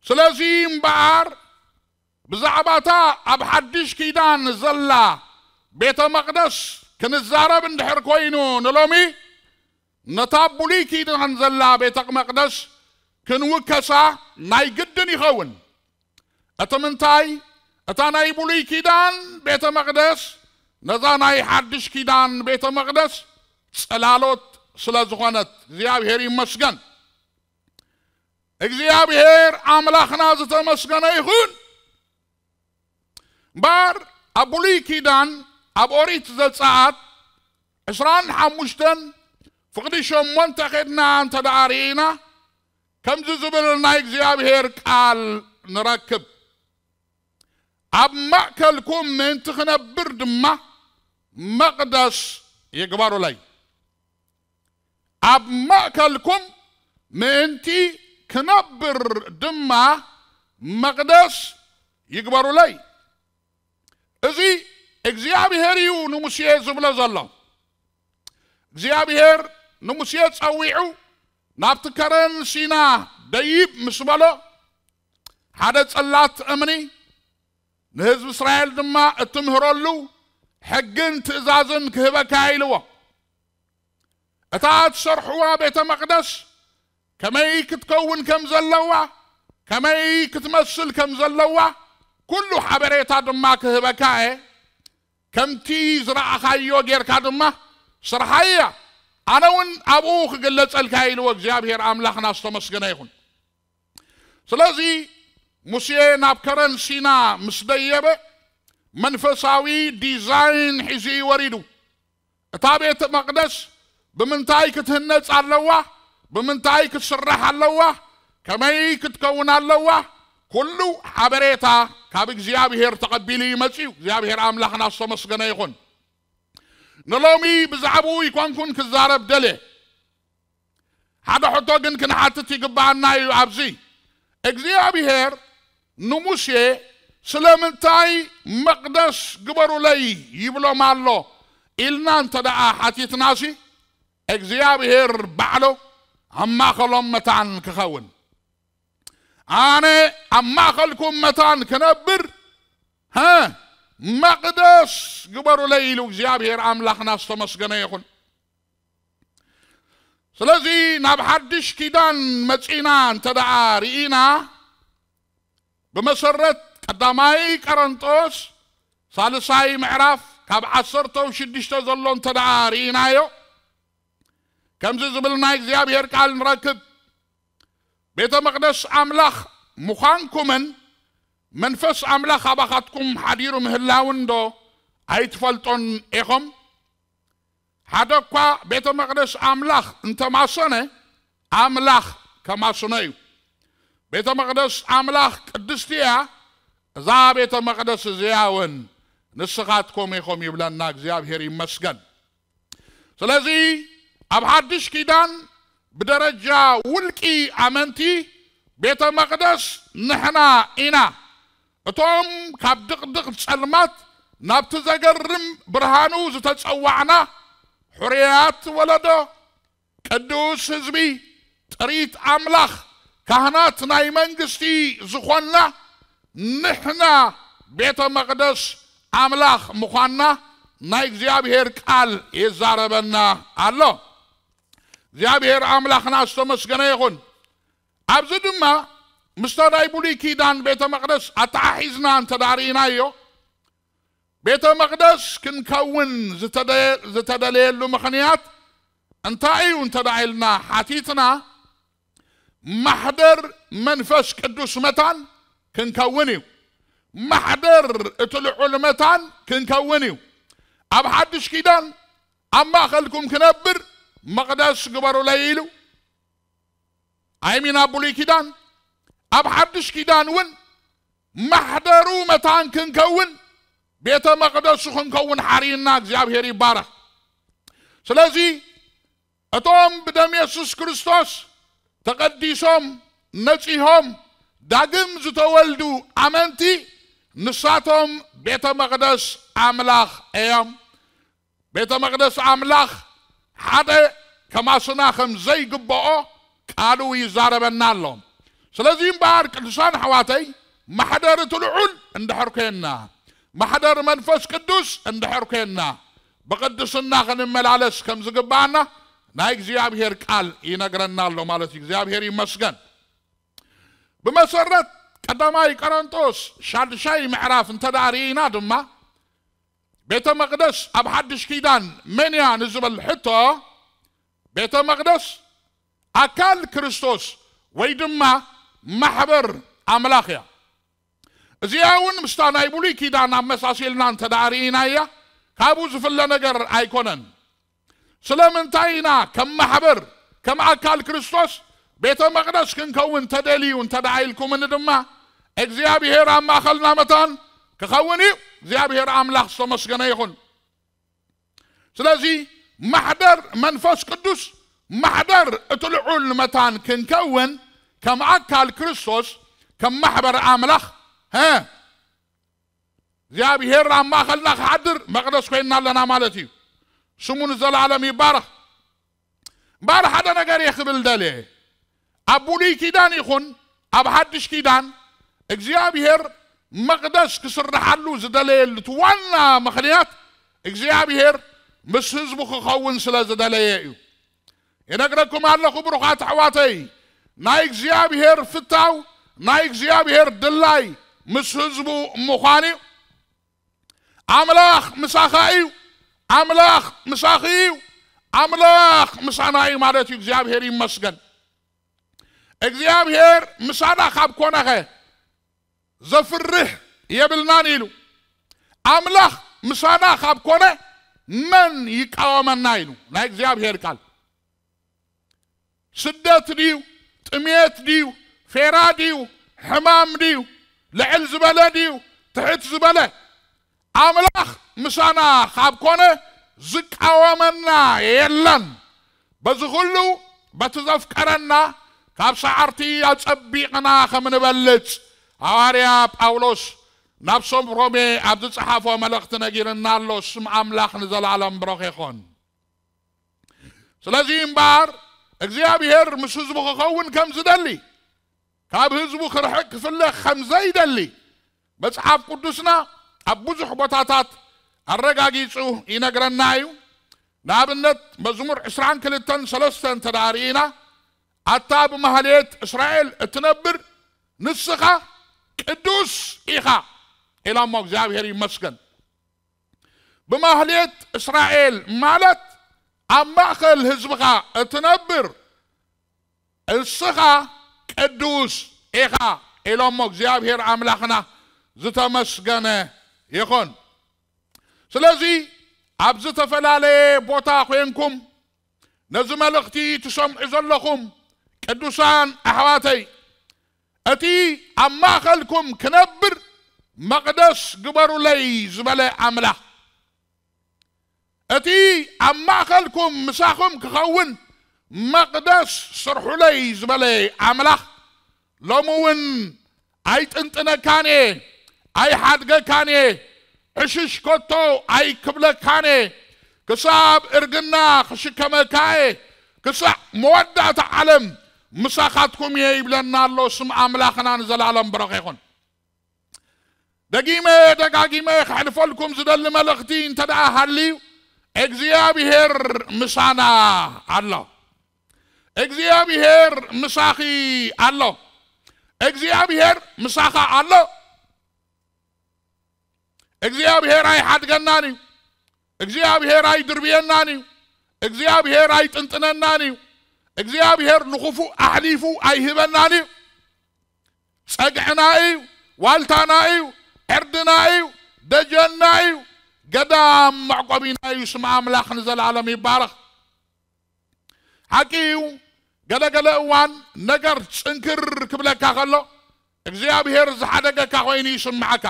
ስለዚ እምበኣር ብዛዕባታ ኣብ ሓድሽ ኪዳን ዘላ ቤተ መቕደስ ክንዛረብ እንድሕር ኮይኑ ንሎሚ፣ ነታ ብሉይ ኪዳን ዘላ ቤተ መቕደስ ክንውከሳ ናይ ግድን ይኸውን። እቲ ምንታይ፣ እታ ናይ ብሉይ ኪዳን ቤተ መቕደስ ነዛ ናይ ሓድሽ ኪዳን ቤተ መቕደስ ጽላሎት ስለ ዝኾነት፣ እግዚኣብሔር ይመስገን። እግዚኣብሔር ኣምላኽና ዝተመስገነ ይኹን። እምበኣር ኣብ ብሉይ ኪዳን ኣብ ኦሪት ዘጸኣት ዕስራን ሓሙሽተን ፍቕዲ ሸሞንተ ኼድና እንተ ደኣ ርኢና፣ ከምዚ ዝብል ናይ እግዚኣብሔር ቃል ንረክብ። ኣብ ማእከልኩም ምእንቲ ክነብር ድማ መቕደስ ይግበሩለይ። ኣብ ማእከልኩም ምእንቲ ክነብር ድማ መቕደስ ይግበሩለይ። እዚ እግዚኣብሔር እዩ ንሙሴ ዝብሎ ዘሎ። እግዚኣብሔር ንሙሴ ጸዊዑ ናብቲ ከረን ሲና ደይብ ምስ በሎ፣ ሓደ ጽላት እምኒ ንህዝቢ እስራኤል ድማ እትምህረሉ ሕግን ትእዛዝን ክህበካ ኢልዎ። እታ እትሰርሕዋ ቤተ መቕደስ ከመይ ክትከውን ከም ዘለዋ፣ ከመይ ክትመስል ከም ዘለዋ፣ ኩሉ ሓበሬታ ድማ ክህበካ እየ። ከምቲ ዝረኣኻዮ ጌርካ ድማ ስርሓያ፣ ኣነ እውን ኣብኡ ክግለጸልካ ኢልዎ። እግዚኣብሔር ኣምላኽና ዝተመስገነ ይኹን። ስለዚ ሙሴ ናብ ከረን ሲና ምስ ደየበ መንፈሳዊ ዲዛይን ሒዙ እዩ ወሪዱ። እታ ቤተ መቕደስ ብምንታይ ክትህነጽ ኣለዋ? ብምንታይ ክትስራሕ ኣለዋ? ከመይ ክትከውን ኣለዋ? ኩሉ ሓበሬታ ካብ እግዚኣብሔር ተቐቢሉ እዩ መጺኡ። እግዚኣብሔር ኣምላኽና ዝተመስገነ ይኹን። ንሎሚ ብዛዕባኡ ይኮንኩን ክዛረብ ደልየ። ሓደ ሕቶ ግን ክንሓትት ይግብኣና እዩ። ኣብዚ እግዚኣብሔር ንሙሴ ስለምንታይ መቕደስ ግበሩለይ ይብሎም ኣሎ ኢልና እንተ ደኣ ሓቲትናሲ፣ እግዚኣብሔር ባዕሉ ኣብ ማእኸሎም መታን ክኸውን፣ ኣነ ኣብ ማእኸልኩም መታን ክነብር፣ ሀ፣ መቕደስ ግበሩለይ ኢሉ እግዚኣብሔር ኣምላኽና ዝተመስገነ ይኹን። ስለዚ ናብ ሓድሽ ኪዳን መጺና እንተ ደኣ ርኢና፣ ብመሰረት ቀዳማይ ቀረንጦስ ሳልሳይ ምዕራፍ ካብ ዓሰርተ ሽዱሽተ ዘሎ እንተ ደኣ ርኢናዮ፣ ከምዚ ዝብል ናይ እግዚኣብሔር ቃል ንረክብ። ቤተ መቕደስ ኣምላኽ ምዃንኩምን መንፈስ ኣምላኽ ኣባኻትኩም ሓዲሩ ምህላውን ዶ ኣይትፈልጦን ኢኹም? ሓደ እኳ ቤተ መቕደስ ኣምላኽ እንተማሰነ፣ ኣምላኽ ከማስኖ እዩ። ቤተ መቕደስ ኣምላኽ ቅድስቲ እያ፣ እዛ ቤተ መቕደስ እዚኣ እውን ንስኻትኩም ኢኹም ይብለና። እግዚኣብሔር ይመስገን። ስለዚ ኣብ ሓድሽ ኪዳን ብደረጃ ውልቂ ኣመንቲ ቤተ መቕደስ ንሕና ኢና። እቶም ካብ ድቕድቕ ጸልማት ናብቲ ዘገርም ብርሃኑ ዝተጸዋዕና ሕሩያት ወለዶ፣ ቅዱስ ህዝቢ፣ ጥሪት ኣምላኽ፣ ካህናት ናይ መንግስቲ ዝኾንና ንሕና ቤተ መቕደስ ኣምላኽ ምዃንና ናይ እግዚኣብሔር ቃል ይዛረበና ኣሎ። እግዚኣብሔር ኣምላኽና ዝተመስገነ ይኹን። ኣብዚ ድማ ምስታ ናይ ብሉይ ኪዳን ቤተ መቕደስ ኣተሓሒዝና እንተ ደኣ ርኢናዮ፣ ቤተ መቕደስ ክንከውን ዝተደ-፣ ዝተደለየሉ ምኽንያት እንታይ እዩ እንተ ደኣ ኢልና ሓቲትና፣ ማሕደር መንፈስ ቅዱስ መታን ክንከውን እዩ። ማሕደር እቲ ልዑል መታን ክንከውን እዩ። ኣብ ሓድሽ ኪዳን ኣብ ማእኸልኩም ክነብር መቕደስ ግበሩለይ ኢሉ። ኣይሚን ኣብ ብሉይ ኪዳን፣ ኣብ ሓድሽ ኪዳን እውን ማሕደሩ መታን ክንከውን፣ ቤተ መቕደሱ ክንከውን ሓርይና። እግዚኣብሔር ይባረኽ። ስለዚ እቶም ብደም የሱስ ክርስቶስ ተቐዲሶም ነጺሆም ዳግም ዝተወልዱ ኣመንቲ፣ ንሳቶም ቤተ መቕደስ ኣምላኽ እዮም። ቤተ መቕደስ ኣምላኽ ሓደ ከማስና ከም ዘይግብኦ ቃሉ ይዛረበና ኣሎ። ስለዚ እምበኣር ቅዱሳን ኣሕዋተይ፣ ማሕደር እቲ ልዑል እንድሕር ኮይንና፣ ማሕደር መንፈስ ቅዱስ እንድሕር ኮይንና፣ ብቕድስና ክንመላለስ ከም ዝግብኣና ናይ እግዚኣብሔር ቃል ይነግረና ኣሎ ማለት እዩ። እግዚኣብሔር ይመስገን። ብመሰረት ቀዳማይ ቆሮንጦስ ሻድሻይ ምዕራፍ እንተ ደኣ ርኢና ድማ፣ ቤተ መቕደስ ኣብ ሓድሽ ኪዳን መን እያ ንዝብል ሕቶ፣ ቤተ መቕደስ ኣካል ክርስቶስ ወይ ድማ ማሕበር ኣምላኽ እያ። እዚኣ እውን ምስታ ናይ ብሉይ ኪዳን ኣመሳሲልና እንተ ደኣ ርኢናያ፣ ካብኡ ዝፍለ ነገር ኣይኮነን። ስለምንታይ ኢና ከም ማሕበር፣ ከም ኣካል ክርስቶስ ቤተ መቕደስ ክንከውን ተደልዩ እንተ ደኣ ኢልኩምኒ ድማ፣ እግዚኣብሔር ኣብ ማእኸልና መታን ክኸውን እዩ። እግዚኣብሔር ኣምላኽ ዝተመስገነ ይኹን። ስለዚ ማሕደር መንፈስ ቅዱስ፣ ማሕደር እቲ ልዑል መታን ክንከውን፣ ከም ኣካል ክርስቶስ፣ ከም ማሕበር ኣምላኽ፣ ሀ፣ እግዚኣብሔር ኣብ ማእኸልና ክሓድር መቕደስ ኮይንና ኣለና ማለት እዩ። ስሙ ንዘለዓለም ይባረኽ። እምበኣር ሓደ ነገር እየ ክብል ደልየ። ኣብ ብሉይ ኪዳን ይኹን ኣብ ሓድሽ ኪዳን እግዚኣብሔር መቕደስ ክስርሓሉ ዝደለየሉ እቲ ዋና ምኽንያት እግዚኣብሔር ምስ ህዝቡ ክኸውን ስለ ዝደለየ እዩ። ይነግረኩም ኣለኹ ብሩኻት ኣሕዋተይ፣ ናይ እግዚኣብሔር ፍታው፣ ናይ እግዚኣብሔር ድላይ ምስ ህዝቡ ምዃን እዩ። ኣምላኽ ምሳኻ እዩ። ኣምላኽ ምሳኺ እዩ። ኣምላኽ ምሳና እዩ ማለት እዩ። እግዚኣብሔር ይመስገን። እግዚኣብሔር ምሳና ካብ ኮነኸ ዘፍርህ የብልናን ኢሉ። ኣምላኽ ምሳና ካብ ኮነ መን ይቃወመና ኢሉ ናይ እግዚኣብሔር ቃል። ስደት ድዩ? ጥሜት ድዩ? ፌራ ድዩ? ሕማም ድዩ? ልዕል ዝበለ ድዩ? ትሕት ዝበለ? ኣምላኽ ምሳና ካብ ኮነ ዝቃወመና የለን። በዚ ኩሉ በቲ ዘፍቀረና ካብ ሰዓርቲ ኣጸቢቕና ከም ንበልጽ ሃዋርያ ጳውሎስ ናብ ሰብ ሮሜ ኣብ ዝጸሓፎ መልእኽቲ ነጊርና ኣሎ። ስም ኣምላኽ ንዘለኣለም ብሩኽ ይኹን። ስለዚ እምበኣር እግዚኣብሔር ምስ ህዝቡ ክኸውን ከም ዝደሊ፣ ካብ ህዝቡ ክርሕቅ ክፍለ ከም ዘይደሊ መጽሓፍ ቅዱስና ኣብ ብዙሕ ቦታታት ኣረጋጊጹ ይነግረና እዩ። ንኣብነት መዝሙር ዕስራን ክልተን ሰለስተን እንተ ደኣ ርኢና፣ ኣታ ብማህሌት እስራኤል እትነብር ንስኻ ቅዱስ ኢኻ ኢሎሞ። እግዚኣብሔር ይመስገን። ብማህሌት እስራኤል ማለት ኣብ ማእከል ህዝብኻ እትነብር እስኻ ቅዱስ ኢኻ ኢሎሞ። እግዚኣብሔር ኣምላኽና ዝተመስገነ ይኹን። ስለዚ ኣብ ዝተፈላለየ ቦታ ኮይንኩም ነዚ መልእኽቲ ትሰምዑ ዘለኹም ቅዱሳን ኣሕዋተይ፣ እቲ ኣብ ማእከልኩም ክነብር መቕደስ ግበሩለይ ዝበለ ኣምላኽ፣ እቲ ኣብ ማእከልኩም ምሳኹም ክኸውን መቕደስ ስርሑለይ ዝበለ ኣምላኽ፣ ሎሚ እውን ኣይጥንጥነካን እየ፣ ኣይሓድገካን እየ፣ ዕሽሽ ከቶ ኣይክብለካን እየ፣ ክሳብ እርግና ክሽከመካ እየ፣ ክሳዕ መወዳእታ ዓለም ምሳኻትኩም እየ ይብለና ኣሎ። ስም ኣምላኽና ንዘለኣለም ብሩኽ ይኹን። ደጊመ ደጋጊመ ከሕልፈልኩም ዝደሊ መልእኽቲ እንተ ደኣ ሃልዩ፣ እግዚኣብሔር ምሳና ኣሎ። እግዚኣብሔር ምሳኺ ኣሎ። እግዚኣብሔር ምሳኻ ኣሎ። እግዚኣብሔር ኣይሓድገናን እዩ። እግዚኣብሔር ኣይድርብየናን እዩ። እግዚኣብሔር ኣይጥንጥነናን እዩ። እግዚኣብሔር ንኽፉእ ኣሕሊፉ ኣይህበናን እዩ። ጸግዕና እዩ፣ ዋልታና እዩ፣ ዕርድና እዩ፣ ደጀንና እዩ፣ ገዳም መዕቆቢና እዩ። ስም ኣምላኽ ንዘለኣለም ይባረኽ። ሓቂ እዩ፣ ገለገለ እዋን ነገር ጽንክር ክብለካ ከሎ፣ እግዚኣብሔር ዝሓደገካ ኮይኑ ይስምዓካ።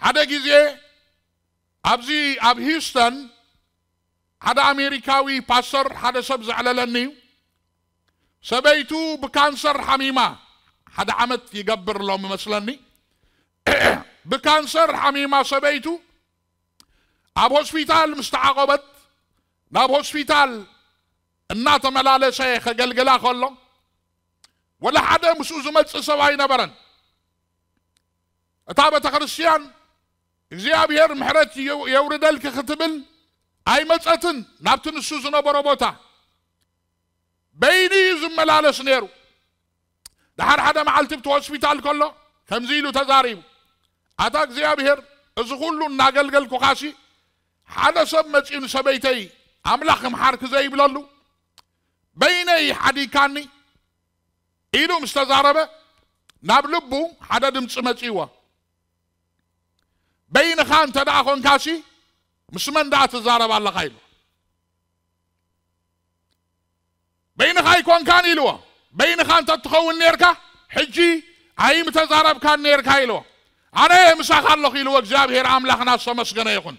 ሓደ ግዜ ኣብዚ ኣብ ሂውስተን ሓደ ኣሜሪካዊ ፓስተር ሓደ ሰብ ዘዕለለኒ እዩ። ሰበይቱ ብካንሰር ሓሚማ፣ ሓደ ዓመት ይገብር ኣሎ መስለኒ። ብካንሰር ሓሚማ ሰበይቱ ኣብ ሆስፒታል ምስ ተዓቖበት፣ ናብ ሆስፒታል እናተመላለሰ ከገልግላ ከሎ፣ ወላ ሓደ ምስኡ ዝመጽእ ሰብ ኣይነበረን። እታ ቤተ ክርስቲያን እግዚኣብሔር ምሕረት የው-፣ የውርደልኪ ክትብል ኣይመጸትን ናብቲ ንሱ ዝነበሮ ቦታ። በይኑ እዩ ዝመላለስ ነይሩ። ደሓር ሓደ መዓልቲ ብቲ ሆስፒታል ከሎ ከምዚ ኢሉ ተዛሪቡ፣ ኣታ እግዚኣብሔር፣ እዚ ኩሉ እናገልገልኩኻሲ ሓደ ሰብ መጺኡ ንሰበይተይ ኣምላኽ ይምሓርኪ ዘይብለሉ፣ በይነይ ሓዲግካኒ ኢሉ ምስ ተዛረበ፣ ናብ ልቡ ሓደ ድምፂ መፂእዎ። በይንኻ እንተ ደኣ ኾንካሲ ምስ መን ደኣ ትዛረብ ኣለኻ? ኢሉ። በይንኻ ኣይኮንካን ኢልዎ። በይንኻ እንተ ትኸውን ኔርካ ሕጂ ኣይምተዛረብካን ኔርካ ኢልዎ። ኣነ ምሳኻ ኣለኹ ኢልዎ። እግዚኣብሔር ኣምላኽና ዝተመስገነ ይኹን።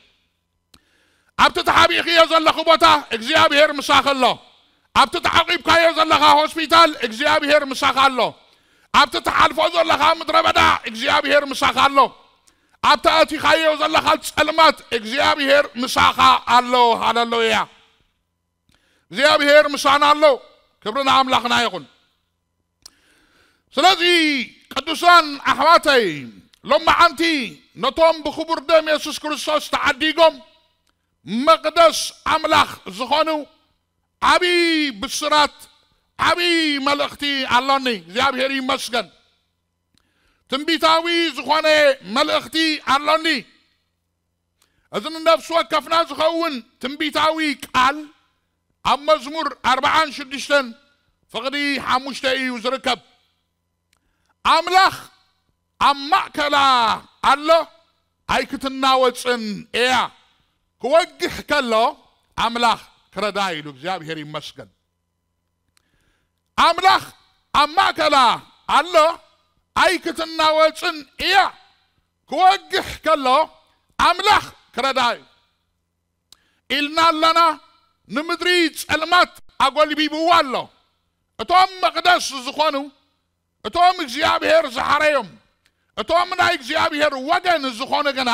ኣብቲ ተሓቢእክዮ ዘለኺ ቦታ እግዚኣብሔር ምሳኺ ኣሎ። ኣብቲ ተዓቂብካዮ ዘለኻ ሆስፒታል እግዚኣብሔር ምሳኻ ኣሎ። ኣብቲ ትሓልፎ ዘለኻ ምድረ በዳ እግዚኣብሔር ምሳኻ ኣሎ። ኣብቲ ኣቲኻዮ ዘለኻ ጸልማት እግዚኣብሔር ምሳኻ ኣሎ። ሃሌሉያ። እግዚኣብሔር ምሳና ኣሎ። ክብሪ ንኣምላኽና ይኹን። ስለዚ ቅዱሳን ኣሕዋተይ፣ ሎማዓንቲ ነቶም ብኽቡር ደም የሱስ ክርስቶስ ተዓዲጎም መቕደስ ኣምላኽ ዝኾኑ ዓብዪ ብስራት፣ ዓብዪ መልእኽቲ ኣሎኒ። እግዚኣብሔር ይመስገን። ትንቢታዊ ዝኾነ መልእኽቲ ኣሎኒ። እዚ ንነፍሲ ወከፍና ዝኸውን ትንቢታዊ ቃል ኣብ መዝሙር ኣርብዓን ሽዱሽተን ፍቕዲ ሓሙሽተ እዩ ዝርከብ። ኣምላኽ ኣብ ማእከላ ኣሎ፣ ኣይክትናወጽን እያ። ክወግሕ ከሎ ኣምላኽ ክረዳ ኢሉ። እግዚኣብሔር ይመስገን። ኣምላኽ ኣብ ማእከላ ኣሎ ኣይክትናወጽን እያ። ክወግሕ ከሎ ኣምላኽ ክረድኣ እዩ ኢልና ኣለና። ንምድሪ ጸልማት ኣጎልቢብዋ ኣሎ። እቶም መቕደስ ዝኾኑ፣ እቶም እግዚኣብሔር ዝሓረዮም፣ እቶም ናይ እግዚኣብሔር ወገን ዝኾኑ ግና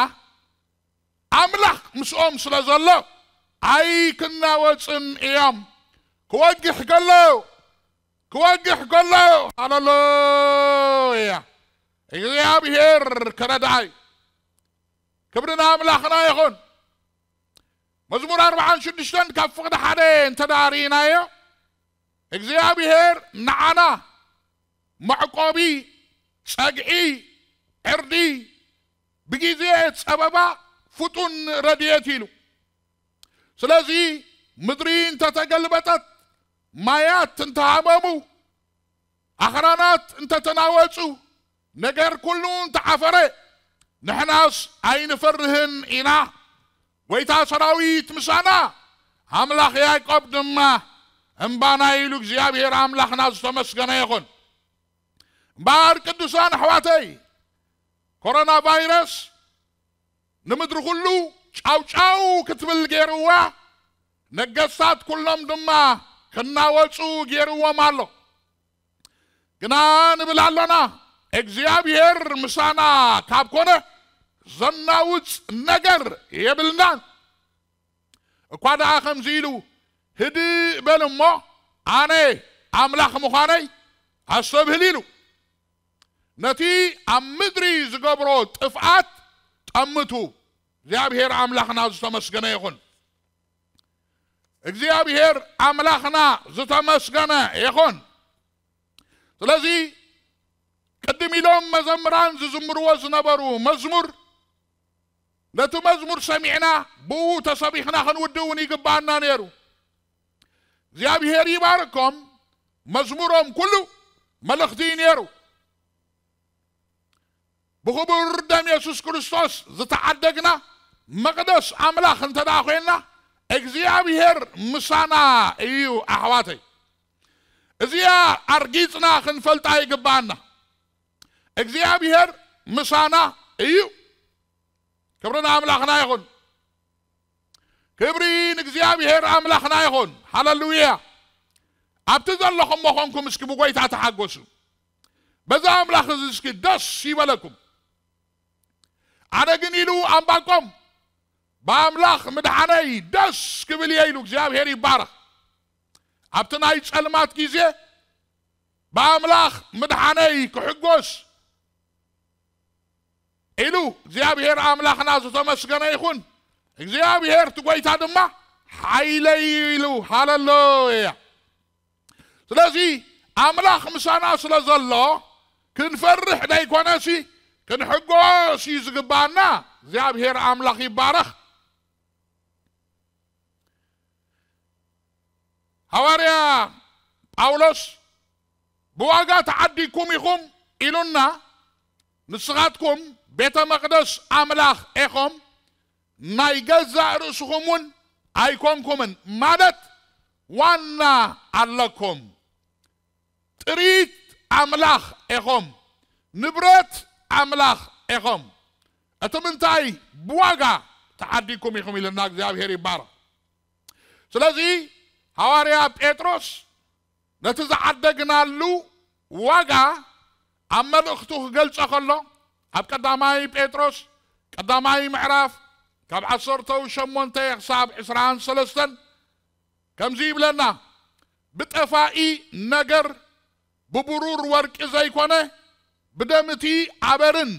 ኣምላኽ ምስኦም ስለ ዘሎ ኣይክናወጽን እዮም። ክወግሕ ከሎ፣ ክወግሕ ከሎ፣ ሃሌሉያ፣ እግዚኣብሔር ክረድኣ እዩ። ክብሪ ንኣምላኽና ይኹን። መዝሙር ኣርብዓን ሽዱሽተን ካብ ፍቕዲ ሓደ እንተ ደኣ ርኢናዮ፣ እግዚኣብሔር ንዓና መዕቆቢ፣ ጸግዒ፣ ዕርዲ፣ ብግዜ ጸበባ ፍጡን ረድኤት ኢሉ። ስለዚ ምድሪ እንተተገልበጠት፣ ማያት እንተሃመሙ፣ ኣኽራናት እንተተናወጹ፣ ነገር ኩሉ እንተዓፈረ፣ ንሕናስ ኣይንፈርህን ኢና። ጐይታ ሰራዊት ምሳና፣ ኣምላኽ ያዕቆብ ድማ እምባና ኢሉ እግዚኣብሔር ኣምላኽና ዝተመስገነ ይኹን። እምበኣር ቅዱሳን ኣሕዋተይ፣ ኮሮና ቫይረስ ንምድሪ ኩሉ ጫውጫው ክትብል ገይርዋ፣ ነገስታት ኩሎም ድማ ክናወጹ ገይርዎም ኣሎ። ግና ንብል ኣሎና፣ እግዚኣብሔር ምሳና ካብ ኮነ ዘናውጽ ነገር የብልናን። እኳ ደኣ ከምዚ ኢሉ፣ "ህድእ በል እሞ ኣነ ኣምላኽ ምዃነይ ኣስተብህል" ኢሉ። ነቲ ኣብ ምድሪ ዝገብሮ ጥፍኣት ጠምቱ። እግዚኣብሔር ኣምላኽና ዝተመስገነ ይኹን። እግዚኣብሔር ኣምላኽና ዝተመስገነ ይኹን። ስለዚ ቅድም ኢሎም መዘምራን ዝዝምርዎ ዝነበሩ መዝሙር፣ ነቲ መዝሙር ሰሚዕና ብኡ ተሰቢኽና ክንውድእ እውን ይግባኣና ነይሩ። እግዚኣብሔር ይባርኮም። መዝሙሮም ኩሉ መልእኽቲ እዩ ነይሩ። ብኽቡር ደም የሱስ ክርስቶስ ዝተዓደግና መቕደስ ኣምላኽ እንተ ደኣ ኮይንና፣ እግዚኣብሔር ምሳና እዩ ኣሕዋተይ። እዚኣ ኣርጊጽና ክንፈልጣ ይግባኣና። እግዚኣብሔር ምሳና እዩ። ክብሪ ንኣምላኽና ይኹን። ክብሪ ንእግዚኣብሔር ኣምላኽና ይኹን። ሃሌሉያ። ኣብቲ ዘለኹሞ ኾንኩም እስኪ ብጎይታ ተሓጎሱ። በዛ ኣምላኽ እዚ እስኪ ደስ ይበለኩም። ኣነ ግን ኢሉ ኣምባቆም ብኣምላኽ ምድሓነይ ደስ ክብል እየ ኢሉ እግዚኣብሔር ይባረኽ። ኣብቲ ናይ ጸልማት ግዜ ብኣምላኽ ምድሓነይ ክሕጎስ ኢሉ እግዚኣብሔር ኣምላኽና ዝተመስገነ ይኹን። እግዚኣብሔር እቲ ጎይታ ድማ ሓይለይ ኢሉ። ሃሌሉያ። ስለዚ ኣምላኽ ምሳና ስለ ዘሎ ክንፈርሕ ደይኮነሲ ክንሕጎስ እዩ ዝግባኣና። እግዚኣብሔር ኣምላኽ ይባረኽ። ሃዋርያ ጳውሎስ ብዋጋ ተዓዲግኩም ኢኹም ኢሉና። ንስኻትኩም ቤተ መቕደስ ኣምላኽ ኢኹም፣ ናይ ገዛእ ርእስኹም እውን ኣይኮንኩምን፣ ማለት ዋና ኣለኩም። ጥሪት ኣምላኽ ኢኹም፣ ንብረት ኣምላኽ ኢኹም። እቲ ምንታይ ብዋጋ ተዓዲግኩም ኢኹም ኢልና እግዚኣብሔር ይባረኽ። ስለዚ ሃዋርያ ጴጥሮስ ነቲ ዝዓደግናሉ ዋጋ ኣብ መልእኽቱ ክገልጾ ከሎ ኣብ ቀዳማይ ጴጥሮስ ቀዳማይ ምዕራፍ ካብ ዓሰርተው ሸሞንተ ክሳብ ዕስራን ሰለስተን ከምዚ ይብለና፣ ብጠፋኢ ነገር ብብሩር ወርቂ ዘይኮነ ብደም እቲ ኣበርን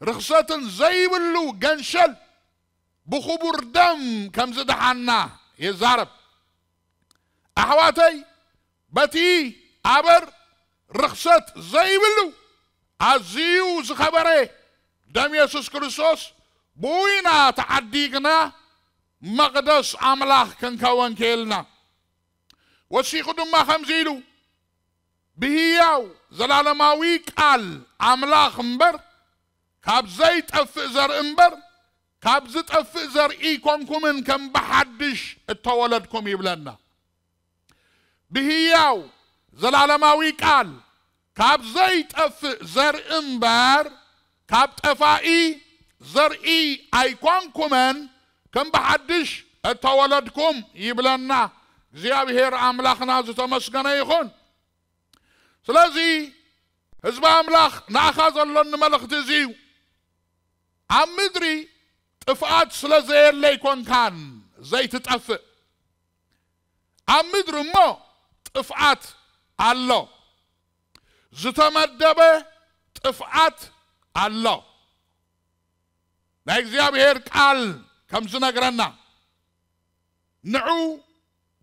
ርኽሰትን ዘይብሉ ገንሸል ብኽቡር ደም ከም ዝደሓና ይዛረብ። ኣሕዋተይ፣ በቲ ኣበር ርኽሰት ዘይብሉ ኣዝዩ ዝኸበረ ደም የሱስ ክርስቶስ ብኡ ኢና ተዓዲግና መቕደስ ኣምላኽ ክንከወን ክኢልና። ወሲኹ ድማ ከምዚ ኢሉ፣ ብህያው ዘላለማዊ ቃል ኣምላኽ እምበር ካብ ዘይጠፍእ ዘርኢ እምበር ካብ ዝጠፍእ ዘርኢ ኣይኮንኩምን ከም ብሓድሽ እተወለድኩም ይብለና። ብህያው ዘላለማዊ ቃል ካብ ዘይጠፍእ ዘርኢ እምበር ካብ ጠፋኢ ዘርኢ ኣይኮንኩምን፣ ከም ብሓድሽ እተወለድኩም ይብለና። እግዚኣብሔር ኣምላኽና ዝተመስገነ ይኹን። ስለዚ ህዝቢ ኣምላኽ፣ ንኣኻ ዘሎኒ መልእኽቲ እዚ እዩ። ኣብ ምድሪ ጥፍኣት ስለ ዘየለ ኣይኮንካን ዘይትጠፍእ። ኣብ ምድሪ እሞ ጥፍኣት ኣሎ። ዝተመደበ ጥፍኣት ኣሎ። ናይ እግዚኣብሔር ቃል ከም ዝነግረና፣ ንዑ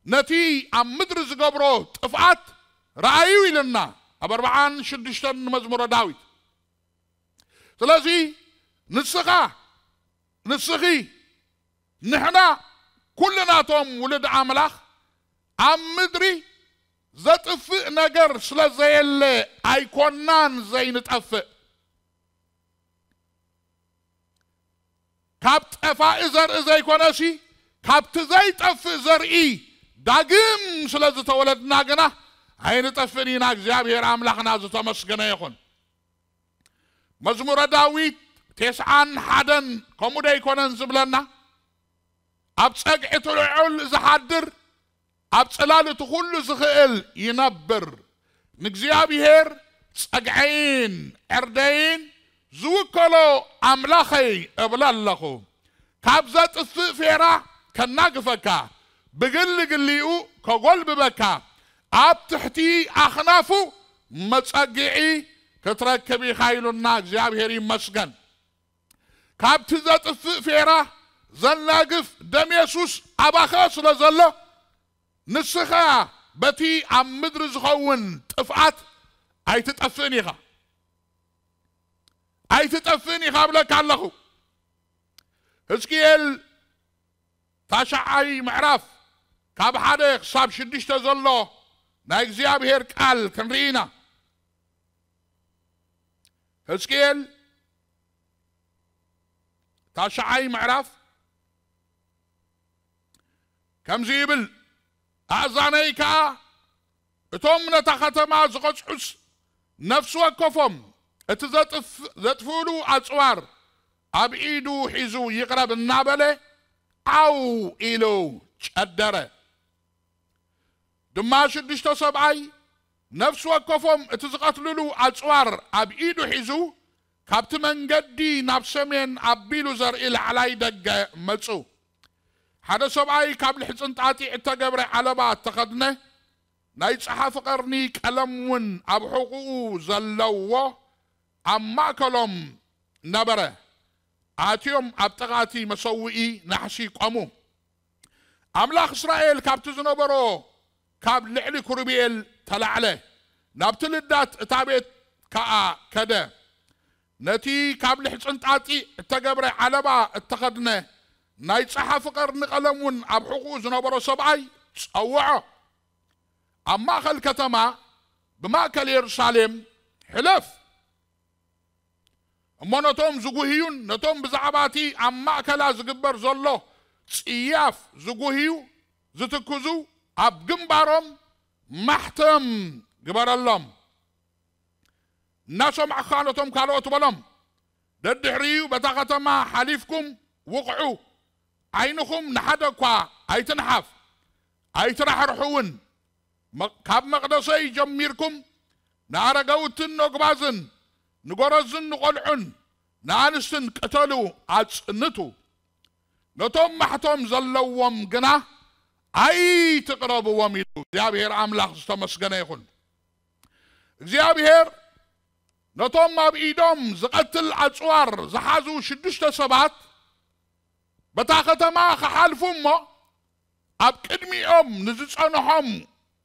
ነቲ ኣብ ምድሪ ዝገብሮ ጥፍኣት ረኣዩ ኢልና ኣብ ኣርብዓን ሽዱሽተን መዝሙረ ዳዊት። ስለዚ ንስኻ፣ ንስኺ፣ ንሕና ኩልናቶም ውሉድ ኣምላኽ ኣብ ምድሪ ዘጥፍእ ነገር ስለ ዘየለ ኣይኮናን ዘይንጠፍእ። ካብ ጠፋኢ ዘርኢ ዘይኮነሲ፣ ካብቲ ዘይጠፍእ ዘርኢ ዳግም ስለ ዝተወለድና ግና ኣይንጠፍእን ኢና። እግዚኣብሔር ኣምላኽና ዝተመስገነ ይኹን። መዝሙረ ዳዊት ቴስዓን ሓደን ከምኡ ዶ ኣይኮነን ዝብለና? ኣብ ጸግዒ እቲ ልዑል ዝሓድር፣ ኣብ ጽላል እቲ ኩሉ ዝኽእል ይነብር። ንእግዚኣብሔር ጸግዐይን ዕርደይን ዝውከሎ ኣምላኸይ እብለ ኣለኹ። ካብ ዘጥፍእ ፌራ ከናግፈካ፣ ብግሊ ግሊኡ ከጎልብበካ፣ ኣብ ትሕቲ ኣኽናፉ መጸግዒ ክትረክብ ኢኻ ኢሉና። እግዚኣብሔር ይመስገን። ካብቲ ዘጥፍእ ፌራ ዘናግፍ ደም የሱስ ኣባኻ ስለ ዘሎ፣ ንስኻ በቲ ኣብ ምድሪ ዝኸውን ጥፍኣት ኣይትጠፍእን ኢኻ። ኣይትጠፍእን ኢኻ እብለካ ኣለኹ። ሕዝቅኤል ታሽዓይ ምዕራፍ ካብ ሓደ ክሳብ ሽዱሽተ ዘሎ ናይ እግዚኣብሔር ቃል ክንርኢ ኢና። ሕዝቅኤል ታሽዓይ ምዕራፍ ከምዚ ይብል፣ ኣእዛነይ ከኣ እቶም ነታ ኸተማ ዝቐጽዑስ ነፍሲ ወከፎም እቲ ዘጥፍ-፣ ዘጥፍእሉ ኣጽዋር ኣብ ኢዱ ሒዙ ይቕረብ እናበለ ዓው ኢሉ ጨደረ። ድማ ሽዱሽተ ሰብኣይ ነፍሲ ወከፎም እቲ ዝቐትልሉ ኣጽዋር ኣብ ኢዱ ሒዙ ካብቲ መንገዲ ናብ ሰሜን ኣቢሉ ዘርኢ ላዕላይ ደገ መጹ። ሓደ ሰብኣይ ካብ ልሕጽን ጣጢዕ እተገብረ ዓለባ እተኸድነ ናይ ጸሓፊ ቀርኒ ቀለም እውን ኣብ ሕቑኡ ዘለዎ ኣብ ማእከሎም ነበረ። ኣትዮም ኣብ ጥቓ እቲ መሰውኢ ናሕሲ ቆሙ። ኣምላኽ እስራኤል ካብቲ ዝነበሮ ካብ ልዕሊ ክሩቤል ተላዕለ፣ ናብቲ ልዳት እታ ቤት ከኣ ከደ። ነቲ ካብ ልሕጽን ጣጢዕ እተገብረ ዓለባ እተኸድነ ናይ ጸሓፊ ቀርኒ ቀለም እውን ኣብ ሕቑኡ ዝነበሮ ሰብኣይ ጸውዖ። ኣብ ማእከል ከተማ ብማእከል የሩሳሌም ሕለፍ። እሞ ነቶም ዝጉህዩን ነቶም ብዛዕባ እቲ ኣብ ማእከላ ዝግበር ዘሎ ጽያፍ ዝጉህዩ ዝትክዙ ኣብ ግንባሮም ማሕተም ግበረሎም። እናሰማዕኻ ነቶም ካልኦት በሎም፣ ደድሕሪኡ በታ ከተማ ሓሊፍኩም ውቕዑ፣ ዓይንኹም ንሓደ እኳ ኣይትንሓፍ፣ ኣይትራሕርሑ እውን። መ-፣ ካብ መቕደሰይ ጀሚርኩም ንኣረጋውትን ነጉባዝን ንጎረዝን ንቖልዑን ንኣንስትን ቅተሉ፣ ኣጽንቱ። ነቶም ማሕቶም ዘለዎም ግና ኣይትቕረብዎም ኢሉ። እግዚኣብሔር ኣምላኽ ዝተመስገነ ይኹን። እግዚኣብሔር ነቶም ኣብ ኢዶም ዝቐትል ኣጽዋር ዝሓዙ ሽዱሽተ ሰባት በታ ከተማ ክሓልፉ እሞ ኣብ ቅድሚኦም ንዝጸንሖም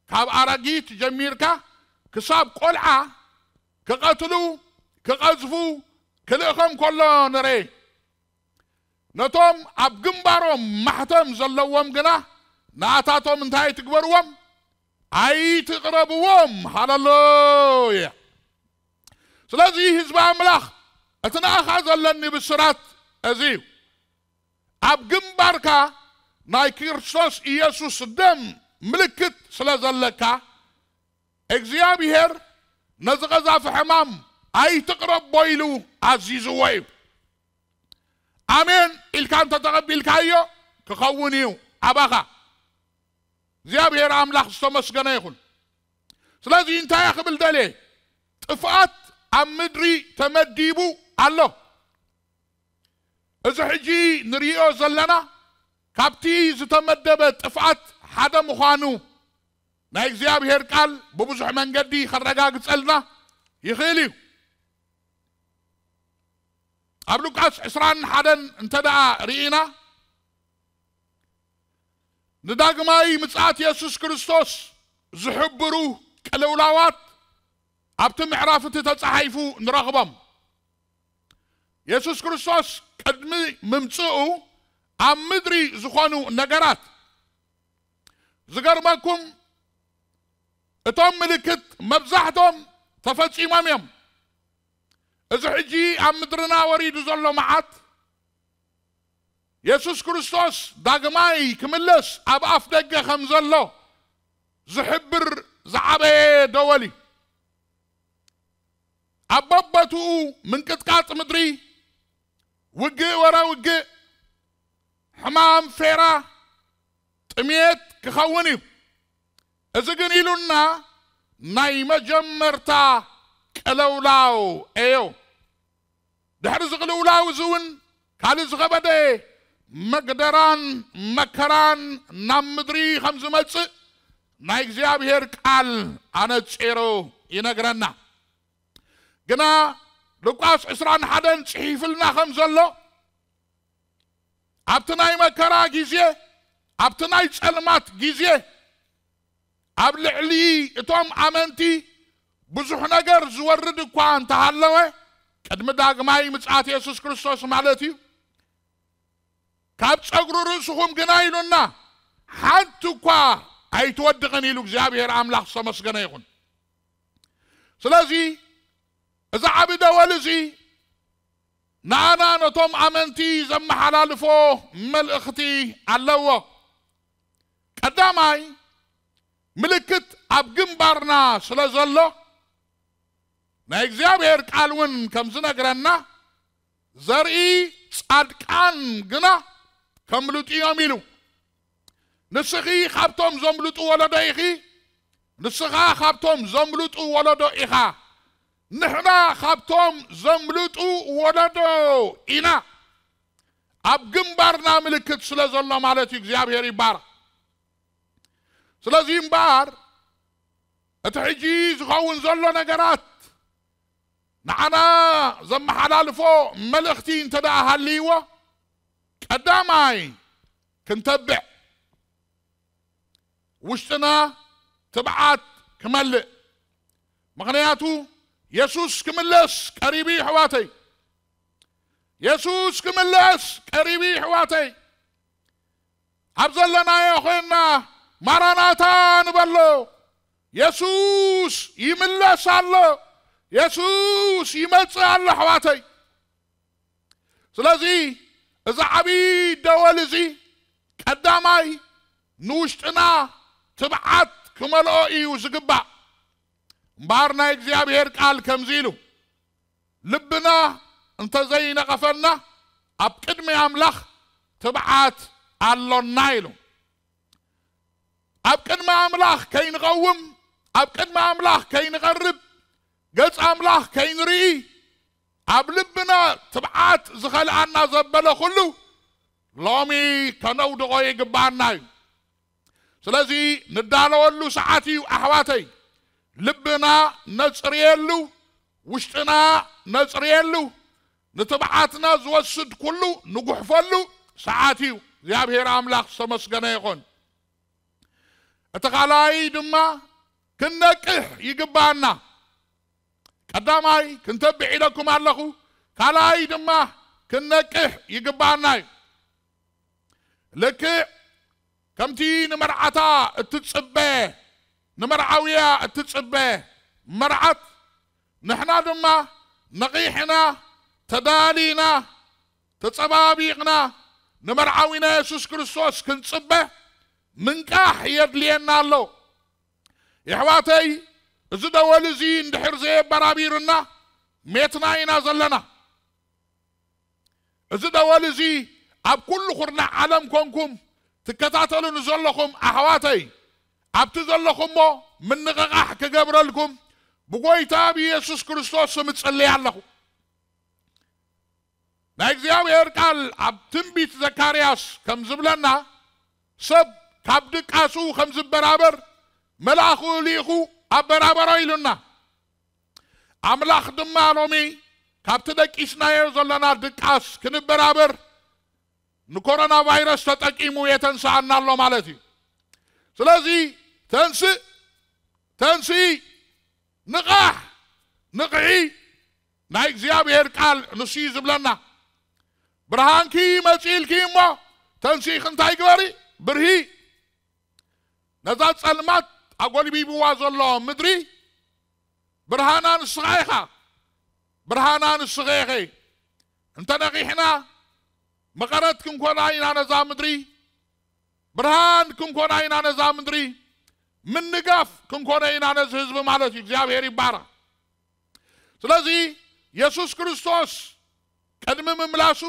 ካብ ኣረጊት ጀሚርካ ክሳብ ቆልዓ ክቐትሉ፣ ክቐዝፉ ክልእኸም ከሎ ንሬ። ነቶም ኣብ ግንባሮም ማሕተም ዘለዎም ግና ንኣታቶም እንታይ ትግበርዎም? ኣይትቕረብዎም። ሃለሉያ። ስለዚ ህዝቢ ኣምላኽ፣ እቲ ንኣኻ ዘለኒ ብስራት እዚ እዩ። ኣብ ግንባርካ ናይ ክርስቶስ ኢየሱስ ደም ምልክት ስለ ዘለካ፣ እግዚኣብሔር ነዚ ቀዛፊ ሕማም ኣይትቕረቦ ኢሉ ኣዚዝዎ እዩ። ኣሜን ኢልካ እንተተቐቢልካዮ ክኸውን እዩ ኣባኻ። እግዚኣብሔር ኣምላኽ ዝተመስገነ ይኹን። ስለዚ እንታይ እየ ክብል ደልየ? ጥፍኣት ኣብ ምድሪ ተመዲቡ ኣሎ። እዚ ሕጂ ንርእዮ ዘለና ካብቲ ዝተመደበ ጥፍኣት ሓደ ምዃኑ ናይ እግዚኣብሔር ቃል ብብዙሕ መንገዲ ከረጋግጸልና ይኽእል እዩ። ኣብ ሉቃስ ዕስራን ሓደን እንተ ደኣ ርኢና፣ ንዳግማይ ምጽኣት የሱስ ክርስቶስ ዝሕብሩ ቅልውላዋት ኣብቲ ምዕራፍ እቲ ተጻሒፉ ንረኽቦም። የሱስ ክርስቶስ ቅድሚ ምምጽኡ ኣብ ምድሪ ዝኾኑ ነገራት፣ ዝገርመኩም፣ እቶም ምልክት መብዛሕቶም ተፈጺሞም እዮም። እዚ ሕጂ ኣብ ምድርና ወሪዱ ዘሎ መዓት፣ የሱስ ክርስቶስ ዳግማይ ክምለስ ኣብ ኣፍ ደገ ከም ዘሎ ዝሕብር ዝዓበየ ደወል እዩ። ኣብ በቦትኡ ምንቅጥቃጥ ምድሪ፣ ውግእ ወረ ውግእ፣ ሕማም ፌራ፣ ጥሜት ክኸውን እዩ። እዚ ግን ኢሉና ናይ መጀመርታ ቅልውላው እዮ። ድሕሪ እዚ ቅልውላው እዚ እውን ካልእ ዝኸበደ መግደራን መከራን ናብ ምድሪ ከም ዝመጽእ ናይ እግዚኣብሔር ቃል ኣነጺሩ ይነግረና። ግና ሉቃስ ዕስራን ሓደን ጽሒፍልና ከም ዘሎ፣ ኣብቲ ናይ መከራ ግዜ፣ ኣብቲ ናይ ጸልማት ግዜ፣ ኣብ ልዕሊ እቶም ኣመንቲ ብዙሕ ነገር ዝወርድ እኳ እንተሃለወ፣ ቅድሚ ዳግማይ ምጽኣት የሱስ ክርስቶስ ማለት እዩ፣ ካብ ጸጉሪ ርእስኹም ግና ኢሉና፣ ሓንቲ እኳ ኣይትወድቕን ኢሉ እግዚኣብሔር ኣምላኽ ዝተመስገነ ይኹን። ስለዚ እዚ ዓቢ ደወል እዚ ንኣና ነቶም ኣመንቲ ዘመሓላልፎ መልእኽቲ ኣለዎ። ቀዳማይ፣ ምልክት ኣብ ግንባርና ስለ ዘሎ፣ ናይ እግዚኣብሔር ቃል እውን ከም ዝነግረና፣ ዘርኢ ጻድቃን ግና ከምልጡ እዮም ኢሉ። ንስኺ ካብቶም ዘምልጡ ወለዶ ኢኺ፣ ንስኻ ካብቶም ዘምልጡ ወለዶ ኢኻ። ንሕና ካብቶም ዘምልጡ ወለዶ ኢና። ኣብ ግንባርና ምልክት ስለ ዘሎ ማለት እዩ። እግዚኣብሔር ይባረኽ። ስለዚ እምበኣር እቲ ሕጂ ዝኸውን ዘሎ ነገራት ንዓና ዘመሓላልፎ መልእኽቲ እንተ ደኣ ሃልይዎ፣ ቀዳማይ ክንተብዕ፣ ውሽጥና ትብዓት ክመልእ። ምኽንያቱ የሱስ ክምለስ ቀሪቡ እዩ፣ ኣሕዋተይ። የሱስ ክምለስ ቀሪቡ እዩ፣ ኣሕዋተይ። ኣብ ዘለናዮ ኮይንና ማራናታ ንበሎ። የሱስ ይምለስ ኣሎ። የሱስ ይመጽእ ኣሎ፣ ኣሕዋተይ። ስለዚ እዚ ዓብዪ ደወል እዚ ቀዳማይ ንውሽጥና ትብዓት ክመልኦ እዩ ዝግባእ። እምበኣር ናይ እግዚኣብሔር ቃል ከምዚ ኢሉ፣ ልብና እንተዘይነቐፈና ኣብ ቅድሚ ኣምላኽ ትብዓት ኣሎና ኢሉ። ኣብ ቅድሚ ኣምላኽ ከይንቐውም፣ ኣብ ቅድሚ ኣምላኽ ከይንቐርብ፣ ገጽ ኣምላኽ ከይንርኢ፣ ኣብ ልብና ትብዓት ዝኸልኣና ዘበለ ኩሉ ሎሚ ከነውድቖ ይግብኣና እዩ። ስለዚ ንዳለወሉ ሰዓት እዩ ኣሕዋተይ። ልብና ነጽርየሉ፣ ውሽጥና ነጽርየሉ፣ ንትብዓትና ዝወስድ ኩሉ ንጉሕፈሉ ሰዓት እዩ። እግዚኣብሔር ኣምላኽ ዝተመስገነ ይኹን። እቲ ካልኣይ ድማ ክንነቅሕ ይግባኣና። ቀዳማይ ክንተብዕ ኢለኩም ኣለኹ፣ ካልኣይ ድማ ክንነቅሕ ይግባኣና እዩ። ልክዕ ከምቲ ንመርዓታ እትጽበ፣ ንመርዓውያ እትጽበ መርዓት፣ ንሕና ድማ ነቒሕና፣ ተዳሊና፣ ተጸባቢቕና ንመርዓዊና የሱስ ክርስቶስ ክንጽበ ምንቃሕ የድልየና ኣሎ። የሕዋተይ፣ እዚ ደወል እዚ እንድሕር ዘየበራቢርና ሜትና ኢና ዘለና። እዚ ደወል እዚ ኣብ ኩሉ ኩርናዕ ዓለም ኮንኩም ትከታተሉ ንዘለኹም ኣሕዋተይ፣ ኣብቲ ዘለኹሞ ምንቕቓሕ ክገብረልኩም ብጎይታ ብኢየሱስ ክርስቶስ ስም እጽልይ ኣለኹ። ናይ እግዚኣብሔር ቃል ኣብ ትንቢት ዘካርያስ ከም ዝብለና፣ ሰብ ካብ ድቃሱ ከም ዝበራበር መልኣኹ ልኢኹ ኣበራበሮ ኢሉና። ኣምላኽ ድማ ሎሚ ካብቲ ደቂስናዮ ዘለና ድቃስ ክንበራበር ንኮሮና ቫይረስ ተጠቂሙ የተንስኣና ኣሎ ማለት እዩ። ስለዚ ተንስእ፣ ተንስኢ፣ ንቓሕ፣ ንቕሒ። ናይ እግዚኣብሔር ቃል ንሱ እዩ ዝብለና። ብርሃንኪ መጺእልኪ እሞ ተንስኢኺ እንታይ ግበሪ? ብርሂ። ነዛ ጸልማት ኣጎልቢብዋ ዘሎ ምድሪ ብርሃና ንስኻ ኢኻ። ብርሃና ንስኻ ኢኺ። እንተ ነቒሕና መቐረት ክንኮና ኢና ነዛ ምድሪ። ብርሃን ክንኮና ኢና ነዛ ምድሪ። ምንጋፍ ክንኮነ ኢና ነዚ ህዝቢ ማለት እዩ። እግዚኣብሔር ይባረኽ። ስለዚ የሱስ ክርስቶስ ቅድሚ ምምላሱ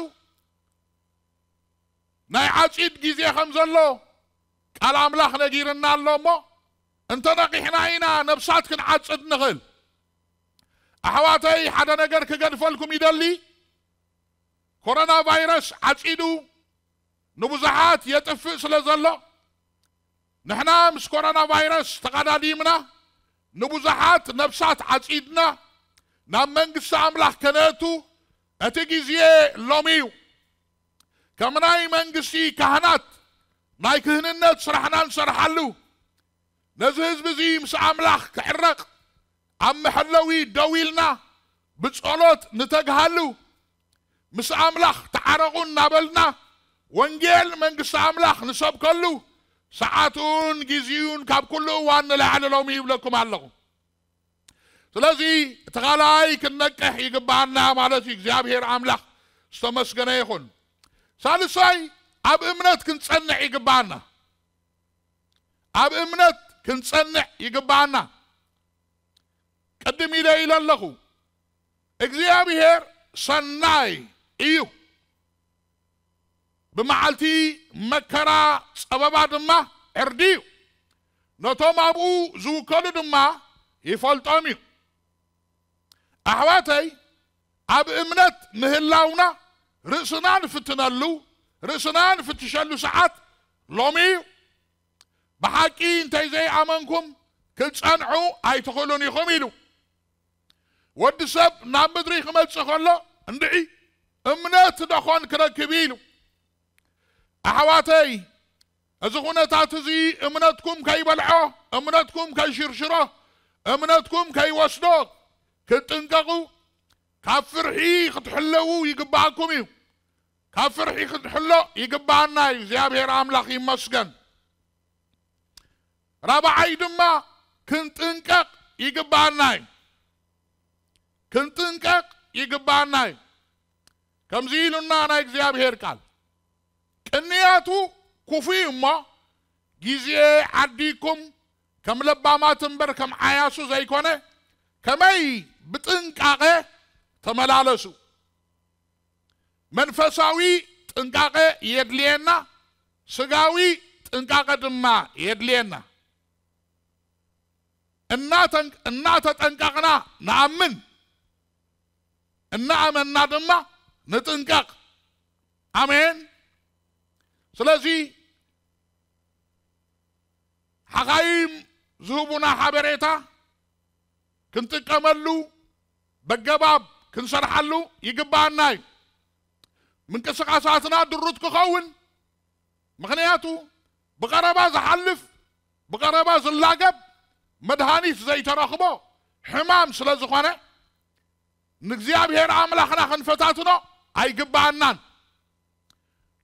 ናይ ዓጺድ ግዜ ከም ዘሎ ቃል ኣምላኽ ነጊርና ኣሎ እሞ፣ እንተ ነቒሕና ኢና ነብሳት ክንዓጽድ ንኽእል። ኣሕዋተይ፣ ሓደ ነገር ክገድፈልኩም ይደሊ። ኮሮና ቫይረስ ዓጺዱ ንብዙሓት የጥፍእ ስለ ዘሎ፣ ንሕና ምስ ኮሮና ቫይረስ ተቐዳዲምና ንብዙሓት ነብሳት ዓጺድና ናብ መንግስቲ ኣምላኽ ከነእቱ እቲ ግዜ ሎሚ እዩ። ከም ናይ መንግስቲ ካህናት ናይ ክህንነት ስራሕና ንሰርሓሉ፣ ነዚ ህዝቢ እዚ ምስ ኣምላኽ ክዕረቕ ኣብ መሐለዊ ደው ኢልና ብጸሎት ንተግሃሉ፣ ምስ ኣምላኽ ተዓረቑ እናበልና ወንጌል መንግስቲ ኣምላኽ ንሰብከሉ ሰዓቱን ግዜኡን ካብ ኩሉ እዋን ንላዕሊ ሎሚ ይብለኩም ኣለኹ። ስለዚ እቲ ካልኣይ ክንነቅሕ ይግባኣና ማለት እዩ። እግዚኣብሔር ኣምላኽ ዝተመስገነ ይኹን። ሳልሳይ ኣብ እምነት ክንጸንዕ ይግባኣና። ኣብ እምነት ክንጸንዕ ይግባኣና። ቅድም ኢለ ኢለ ኣለኹ፣ እግዚኣብሔር ሰናይ እዩ። ብመዓልቲ መከራ ጸበባ ድማ ዕርዲ እዩ። ነቶም ኣብኡ ዝውከሉ ድማ ይፈልጦም እዩ። ኣሕዋተይ፣ ኣብ እምነት ምህላውና ርእስና ንፍትነሉ፣ ርእስና ንፍትሸሉ ሰዓት ሎሚ እዩ። ብሓቂ እንተይ ዘይኣመንኩም ክትጸንዑ ኣይትኽእሉን ኢኹም ኢሉ። ወዲ ሰብ ናብ ምድሪ ክመጽእ ከሎ እንድዒ እምነት ደኾን ክረክብ ኢሉ። ኣሕዋተይ፣ እዚ ኩነታት እዚ እምነትኩም ከይበልዖ፣ እምነትኩም ከይሽርሽሮ፣ እምነትኩም ከይወስዶ ክትጥንቀቑ፣ ካብ ፍርሒ ክትሕለዉ ይግባኣኩም እዩ። ካብ ፍርሒ ክንሕሎ ይግባኣና እዩ። እግዚኣብሔር ኣምላኽ ይመስገን። ራብዓይ ድማ ክንጥንቀቕ ይግባኣና እዩ። ክንጥንቀቕ ይግባኣና እዩ። ከምዚ ኢሉና ናይ እግዚኣብሔር ቃል፣ ቅንያቱ ክፉእ እዩ እሞ፣ ግዜ ዓዲኩም ከም ለባማት እምበር ከም ዓያሱ ዘይኮነ፣ ከመይ ብጥንቃቐ ተመላለሱ። መንፈሳዊ ጥንቃቐ የድልየና፣ ስጋዊ ጥንቃቐ ድማ የድልየና። እናተን-፣ እናተጠንቀቕና ንኣምን፣ እናኣመንና ድማ ንጥንቀቕ። ኣሜን። ስለዚ ሓኻይም ዝህቡና ሓበሬታ ክንጥቀመሉ፣ በገባብ ክንሰርሓሉ ይግባኣና እዩ። ምንቅስቓሳትና ድሩት ክኸውን፣ ምኽንያቱ ብቐረባ ዝሓልፍ፣ ብቐረባ ዝላገብ፣ መድሃኒት ዘይተረኽቦ ሕማም ስለ ዝኾነ፣ ንእግዚኣብሔር ኣምላኽና ክንፈታትኖ ኣይግባኣናን።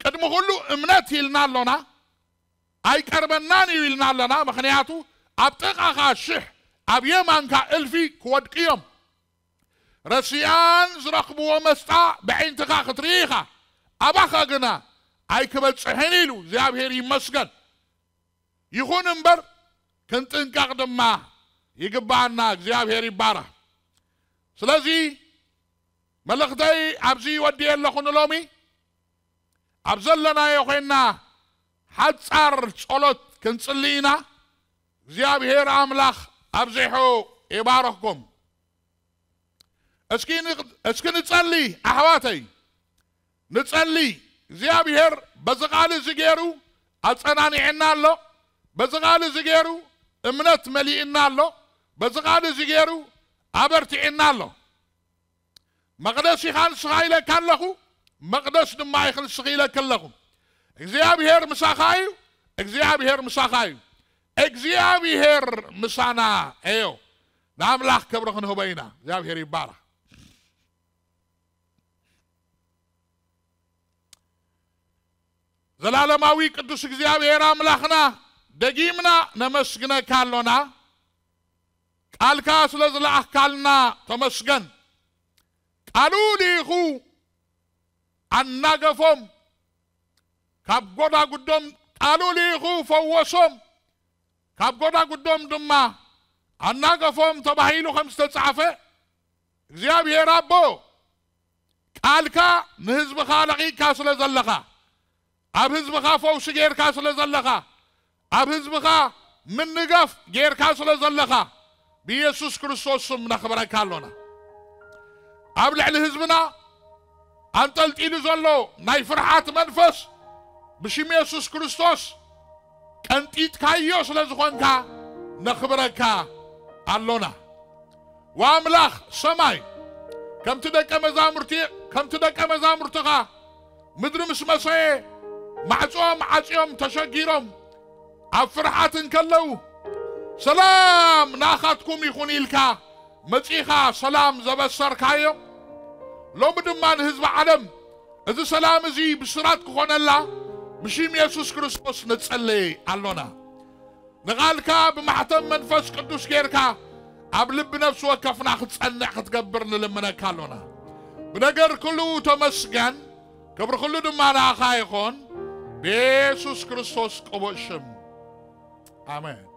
ቅድሚ ኩሉ እምነት ኢልና ኣሎና፣ ኣይቀርበናን እዩ ኢልና ኣለና። ምኽንያቱ ኣብ ጥቓኻ ሽሕ፣ ኣብ የማንካ እልፊ ክወድቁ እዮም። ረሲኣን ዝረኽብዎ መስጣ ብዓይንትኻ ክትርኢ ኢኻ፣ ኣባኻ ግና ኣይክበጽሕን ኢሉ። እግዚኣብሔር ይመስገን። ይኹን እምበር ክንጥንቀቕ ድማ ይግባኣና። እግዚኣብሔር ይባረኽ። ስለዚ መልእኽተይ ኣብዚ ወዲኤ ኣለኹ። ንሎሚ ኣብ ዘለናዮ ኮይንና ሓጻር ጸሎት ክንጽሊ ኢና። እግዚኣብሔር ኣምላኽ ኣብዚሑ ይባረኽኩም። እስኪ ን-፣ እስኪ ንጸሊ ኣሕዋተይ፣ ንጸሊ። እግዚኣብሔር በዚ ቃል እዚ ገይሩ ኣጸናኒዕና ኣሎ። በዚ ቃል እዚ ገይሩ እምነት መሊእና ኣሎ። በዚ ቃል እዚ ገይሩ ኣበርቲዕና ኣሎ። መቕደስ ኢኻ ንስኻ ኢለካ ኣለኹ፣ መቕደስ ድማ ኢኺ ንስኺ ኢለካ ኣለኹ። እግዚኣብሔር ምሳኻ እዩ፣ እግዚኣብሔር ምሳኻ እዩ። እግዚኣብሔር ምሳና እዮ። ንኣምላኽ ክብሪ ክንህቦ ኢና። እግዚኣብሔር ይባረኽ። ዘላለማዊ ቅዱስ እግዚኣብሔር ኣምላኽና፣ ደጊምና ነመስግነካ ኣሎና። ቃልካ ስለ ዝለኣኽካልና ተመስገን። ቃሉ ልኢኹ ኣናገፎም፣ ካብ ጎዳጉዶም ቃሉ ልኢኹ ፈወሶም፣ ካብ ጎዳጉዶም ድማ ኣናገፎም ተባሂሉ ከም ዝተጻሕፈ፣ እግዚኣብሔር ኣቦ፣ ቃልካ ንህዝብኻ ለቒቕካ ስለ ዘለኻ፣ ኣብ ህዝብኻ ፈውሲ ጌርካ ስለ ዘለኻ፣ ኣብ ህዝብኻ ምንጋፍ ጌርካ ስለ ዘለኻ፣ ብኢየሱስ ክርስቶስ ስም ነኽብረካ ኣሎና። ኣብ ልዕሊ ህዝብና ኣንጠልጢሉ ዘሎ ናይ ፍርሓት መንፈስ ብሽም ኢየሱስ ክርስቶስ ቀንጢጥካዮ ስለ ዝኾንካ ነኽብረካ ኣሎና። ወኣምላኽ ሰማይ፣ ከምቲ ደቀ መዛሙርቲ፣ ከምቲ ደቀ መዛሙርትኻ ምድሪ ምስ መሰየ፣ ማዕጾኦም ዓጽዮም ተሸጊሮም ኣብ ፍርሓት እንከለዉ፣ "ሰላም ንኣኻትኩም ይኹን" ኢልካ መጺኻ ሰላም ዘበሰርካዮም፣ ሎሚ ድማ ንህዝቢ ዓለም እዚ ሰላም እዚ ብስራት ክኾነላ ብሽም የሱስ ክርስቶስ ንጸልይ ኣሎና። ንቓልካ ብማሕተም መንፈስ ቅዱስ ጌርካ ኣብ ልቢ ነፍሲ ወከፍና ክትጸንዕ ክትገብር ንልምነካ ኣሎና። ብነገር ኩሉ ተመስገን፣ ክብሪ ኩሉ ድማ ንኣኻ ይኹን፣ ብየሱስ ክርስቶስ ቅቡእ ሽም። ኣሜን።